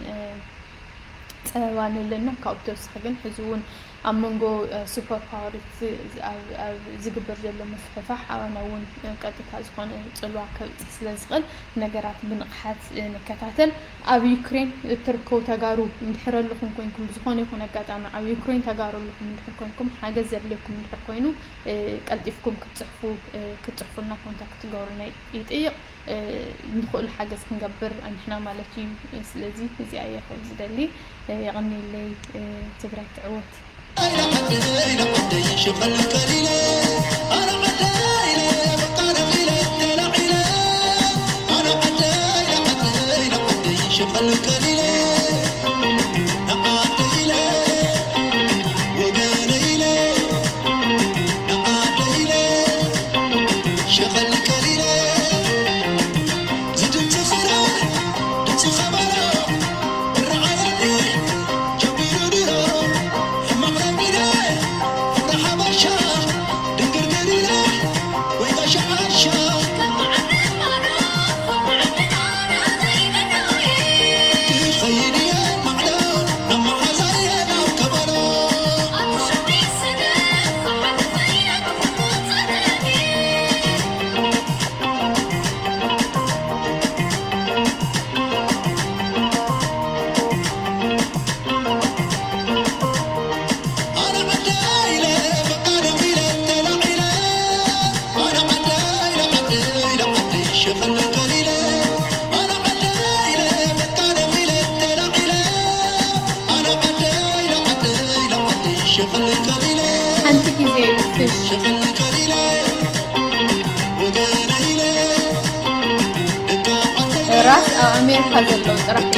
ፀበባን ኣለና። ካብኡ ብተወሳኺ ግን ሕዚ እውን ኣብ መንጎ ሱፐር ፓወርስ ዝግበር ዘሎ ምፍሕፋሕ ኣባና እውን ቀጥታ ዝኾነ ፅልዋ ከብፅሕ ስለ ዝኽእል ነገራት ብንቕሓት ንከታተል። ኣብ ዩክሬን እትርከቡ ተጋሩ እንድሕር ኣለኹም ኮይንኩም ብዝኾነ ይኹን ኣጋጣሚ ኣብ ዩክሬን ተጋሩ ኣለኹም እንድሕር ኮይንኩም ሓገዝ ዘድልየኩም እንድሕር ኮይኑ ቀልጢፍኩም ክትፅሕፉ ክትፅሕፉልና ኮንታክት ትገብሩና ይጥይቕ። ንኽእሉ ሓገዝ ክንገብር ኣንሕና ማለት እዩ። ስለዚ እዚኣ እየ ክብል ዝደሊ። የቐንየለይ። ትግራይ ትዕወት። ሓንቲ ግዜ ፍሽ ራስ ኣብ ኣሜሪካ ዘለዉ ጥራሕ እዩ።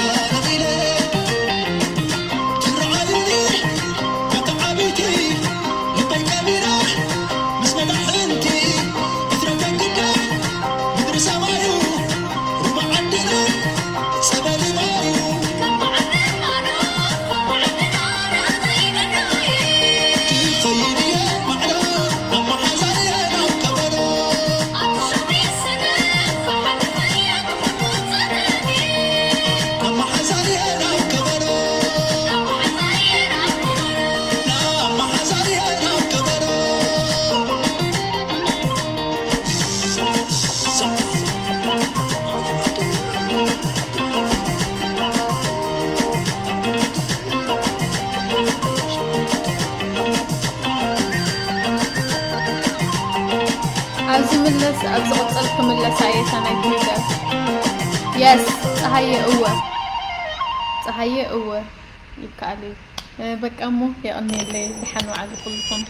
ኣብዚ ምለስ ኣብ ዝቕጽል ክምለሳ እየ እታ ናይ ትዊተር። የስ ጸሃየ እወ ጸሃየ እወ ይከኣል እዩ። በቃ እሞ የቐንየለይ። ደሓን ወዓሉ ኩልኩም።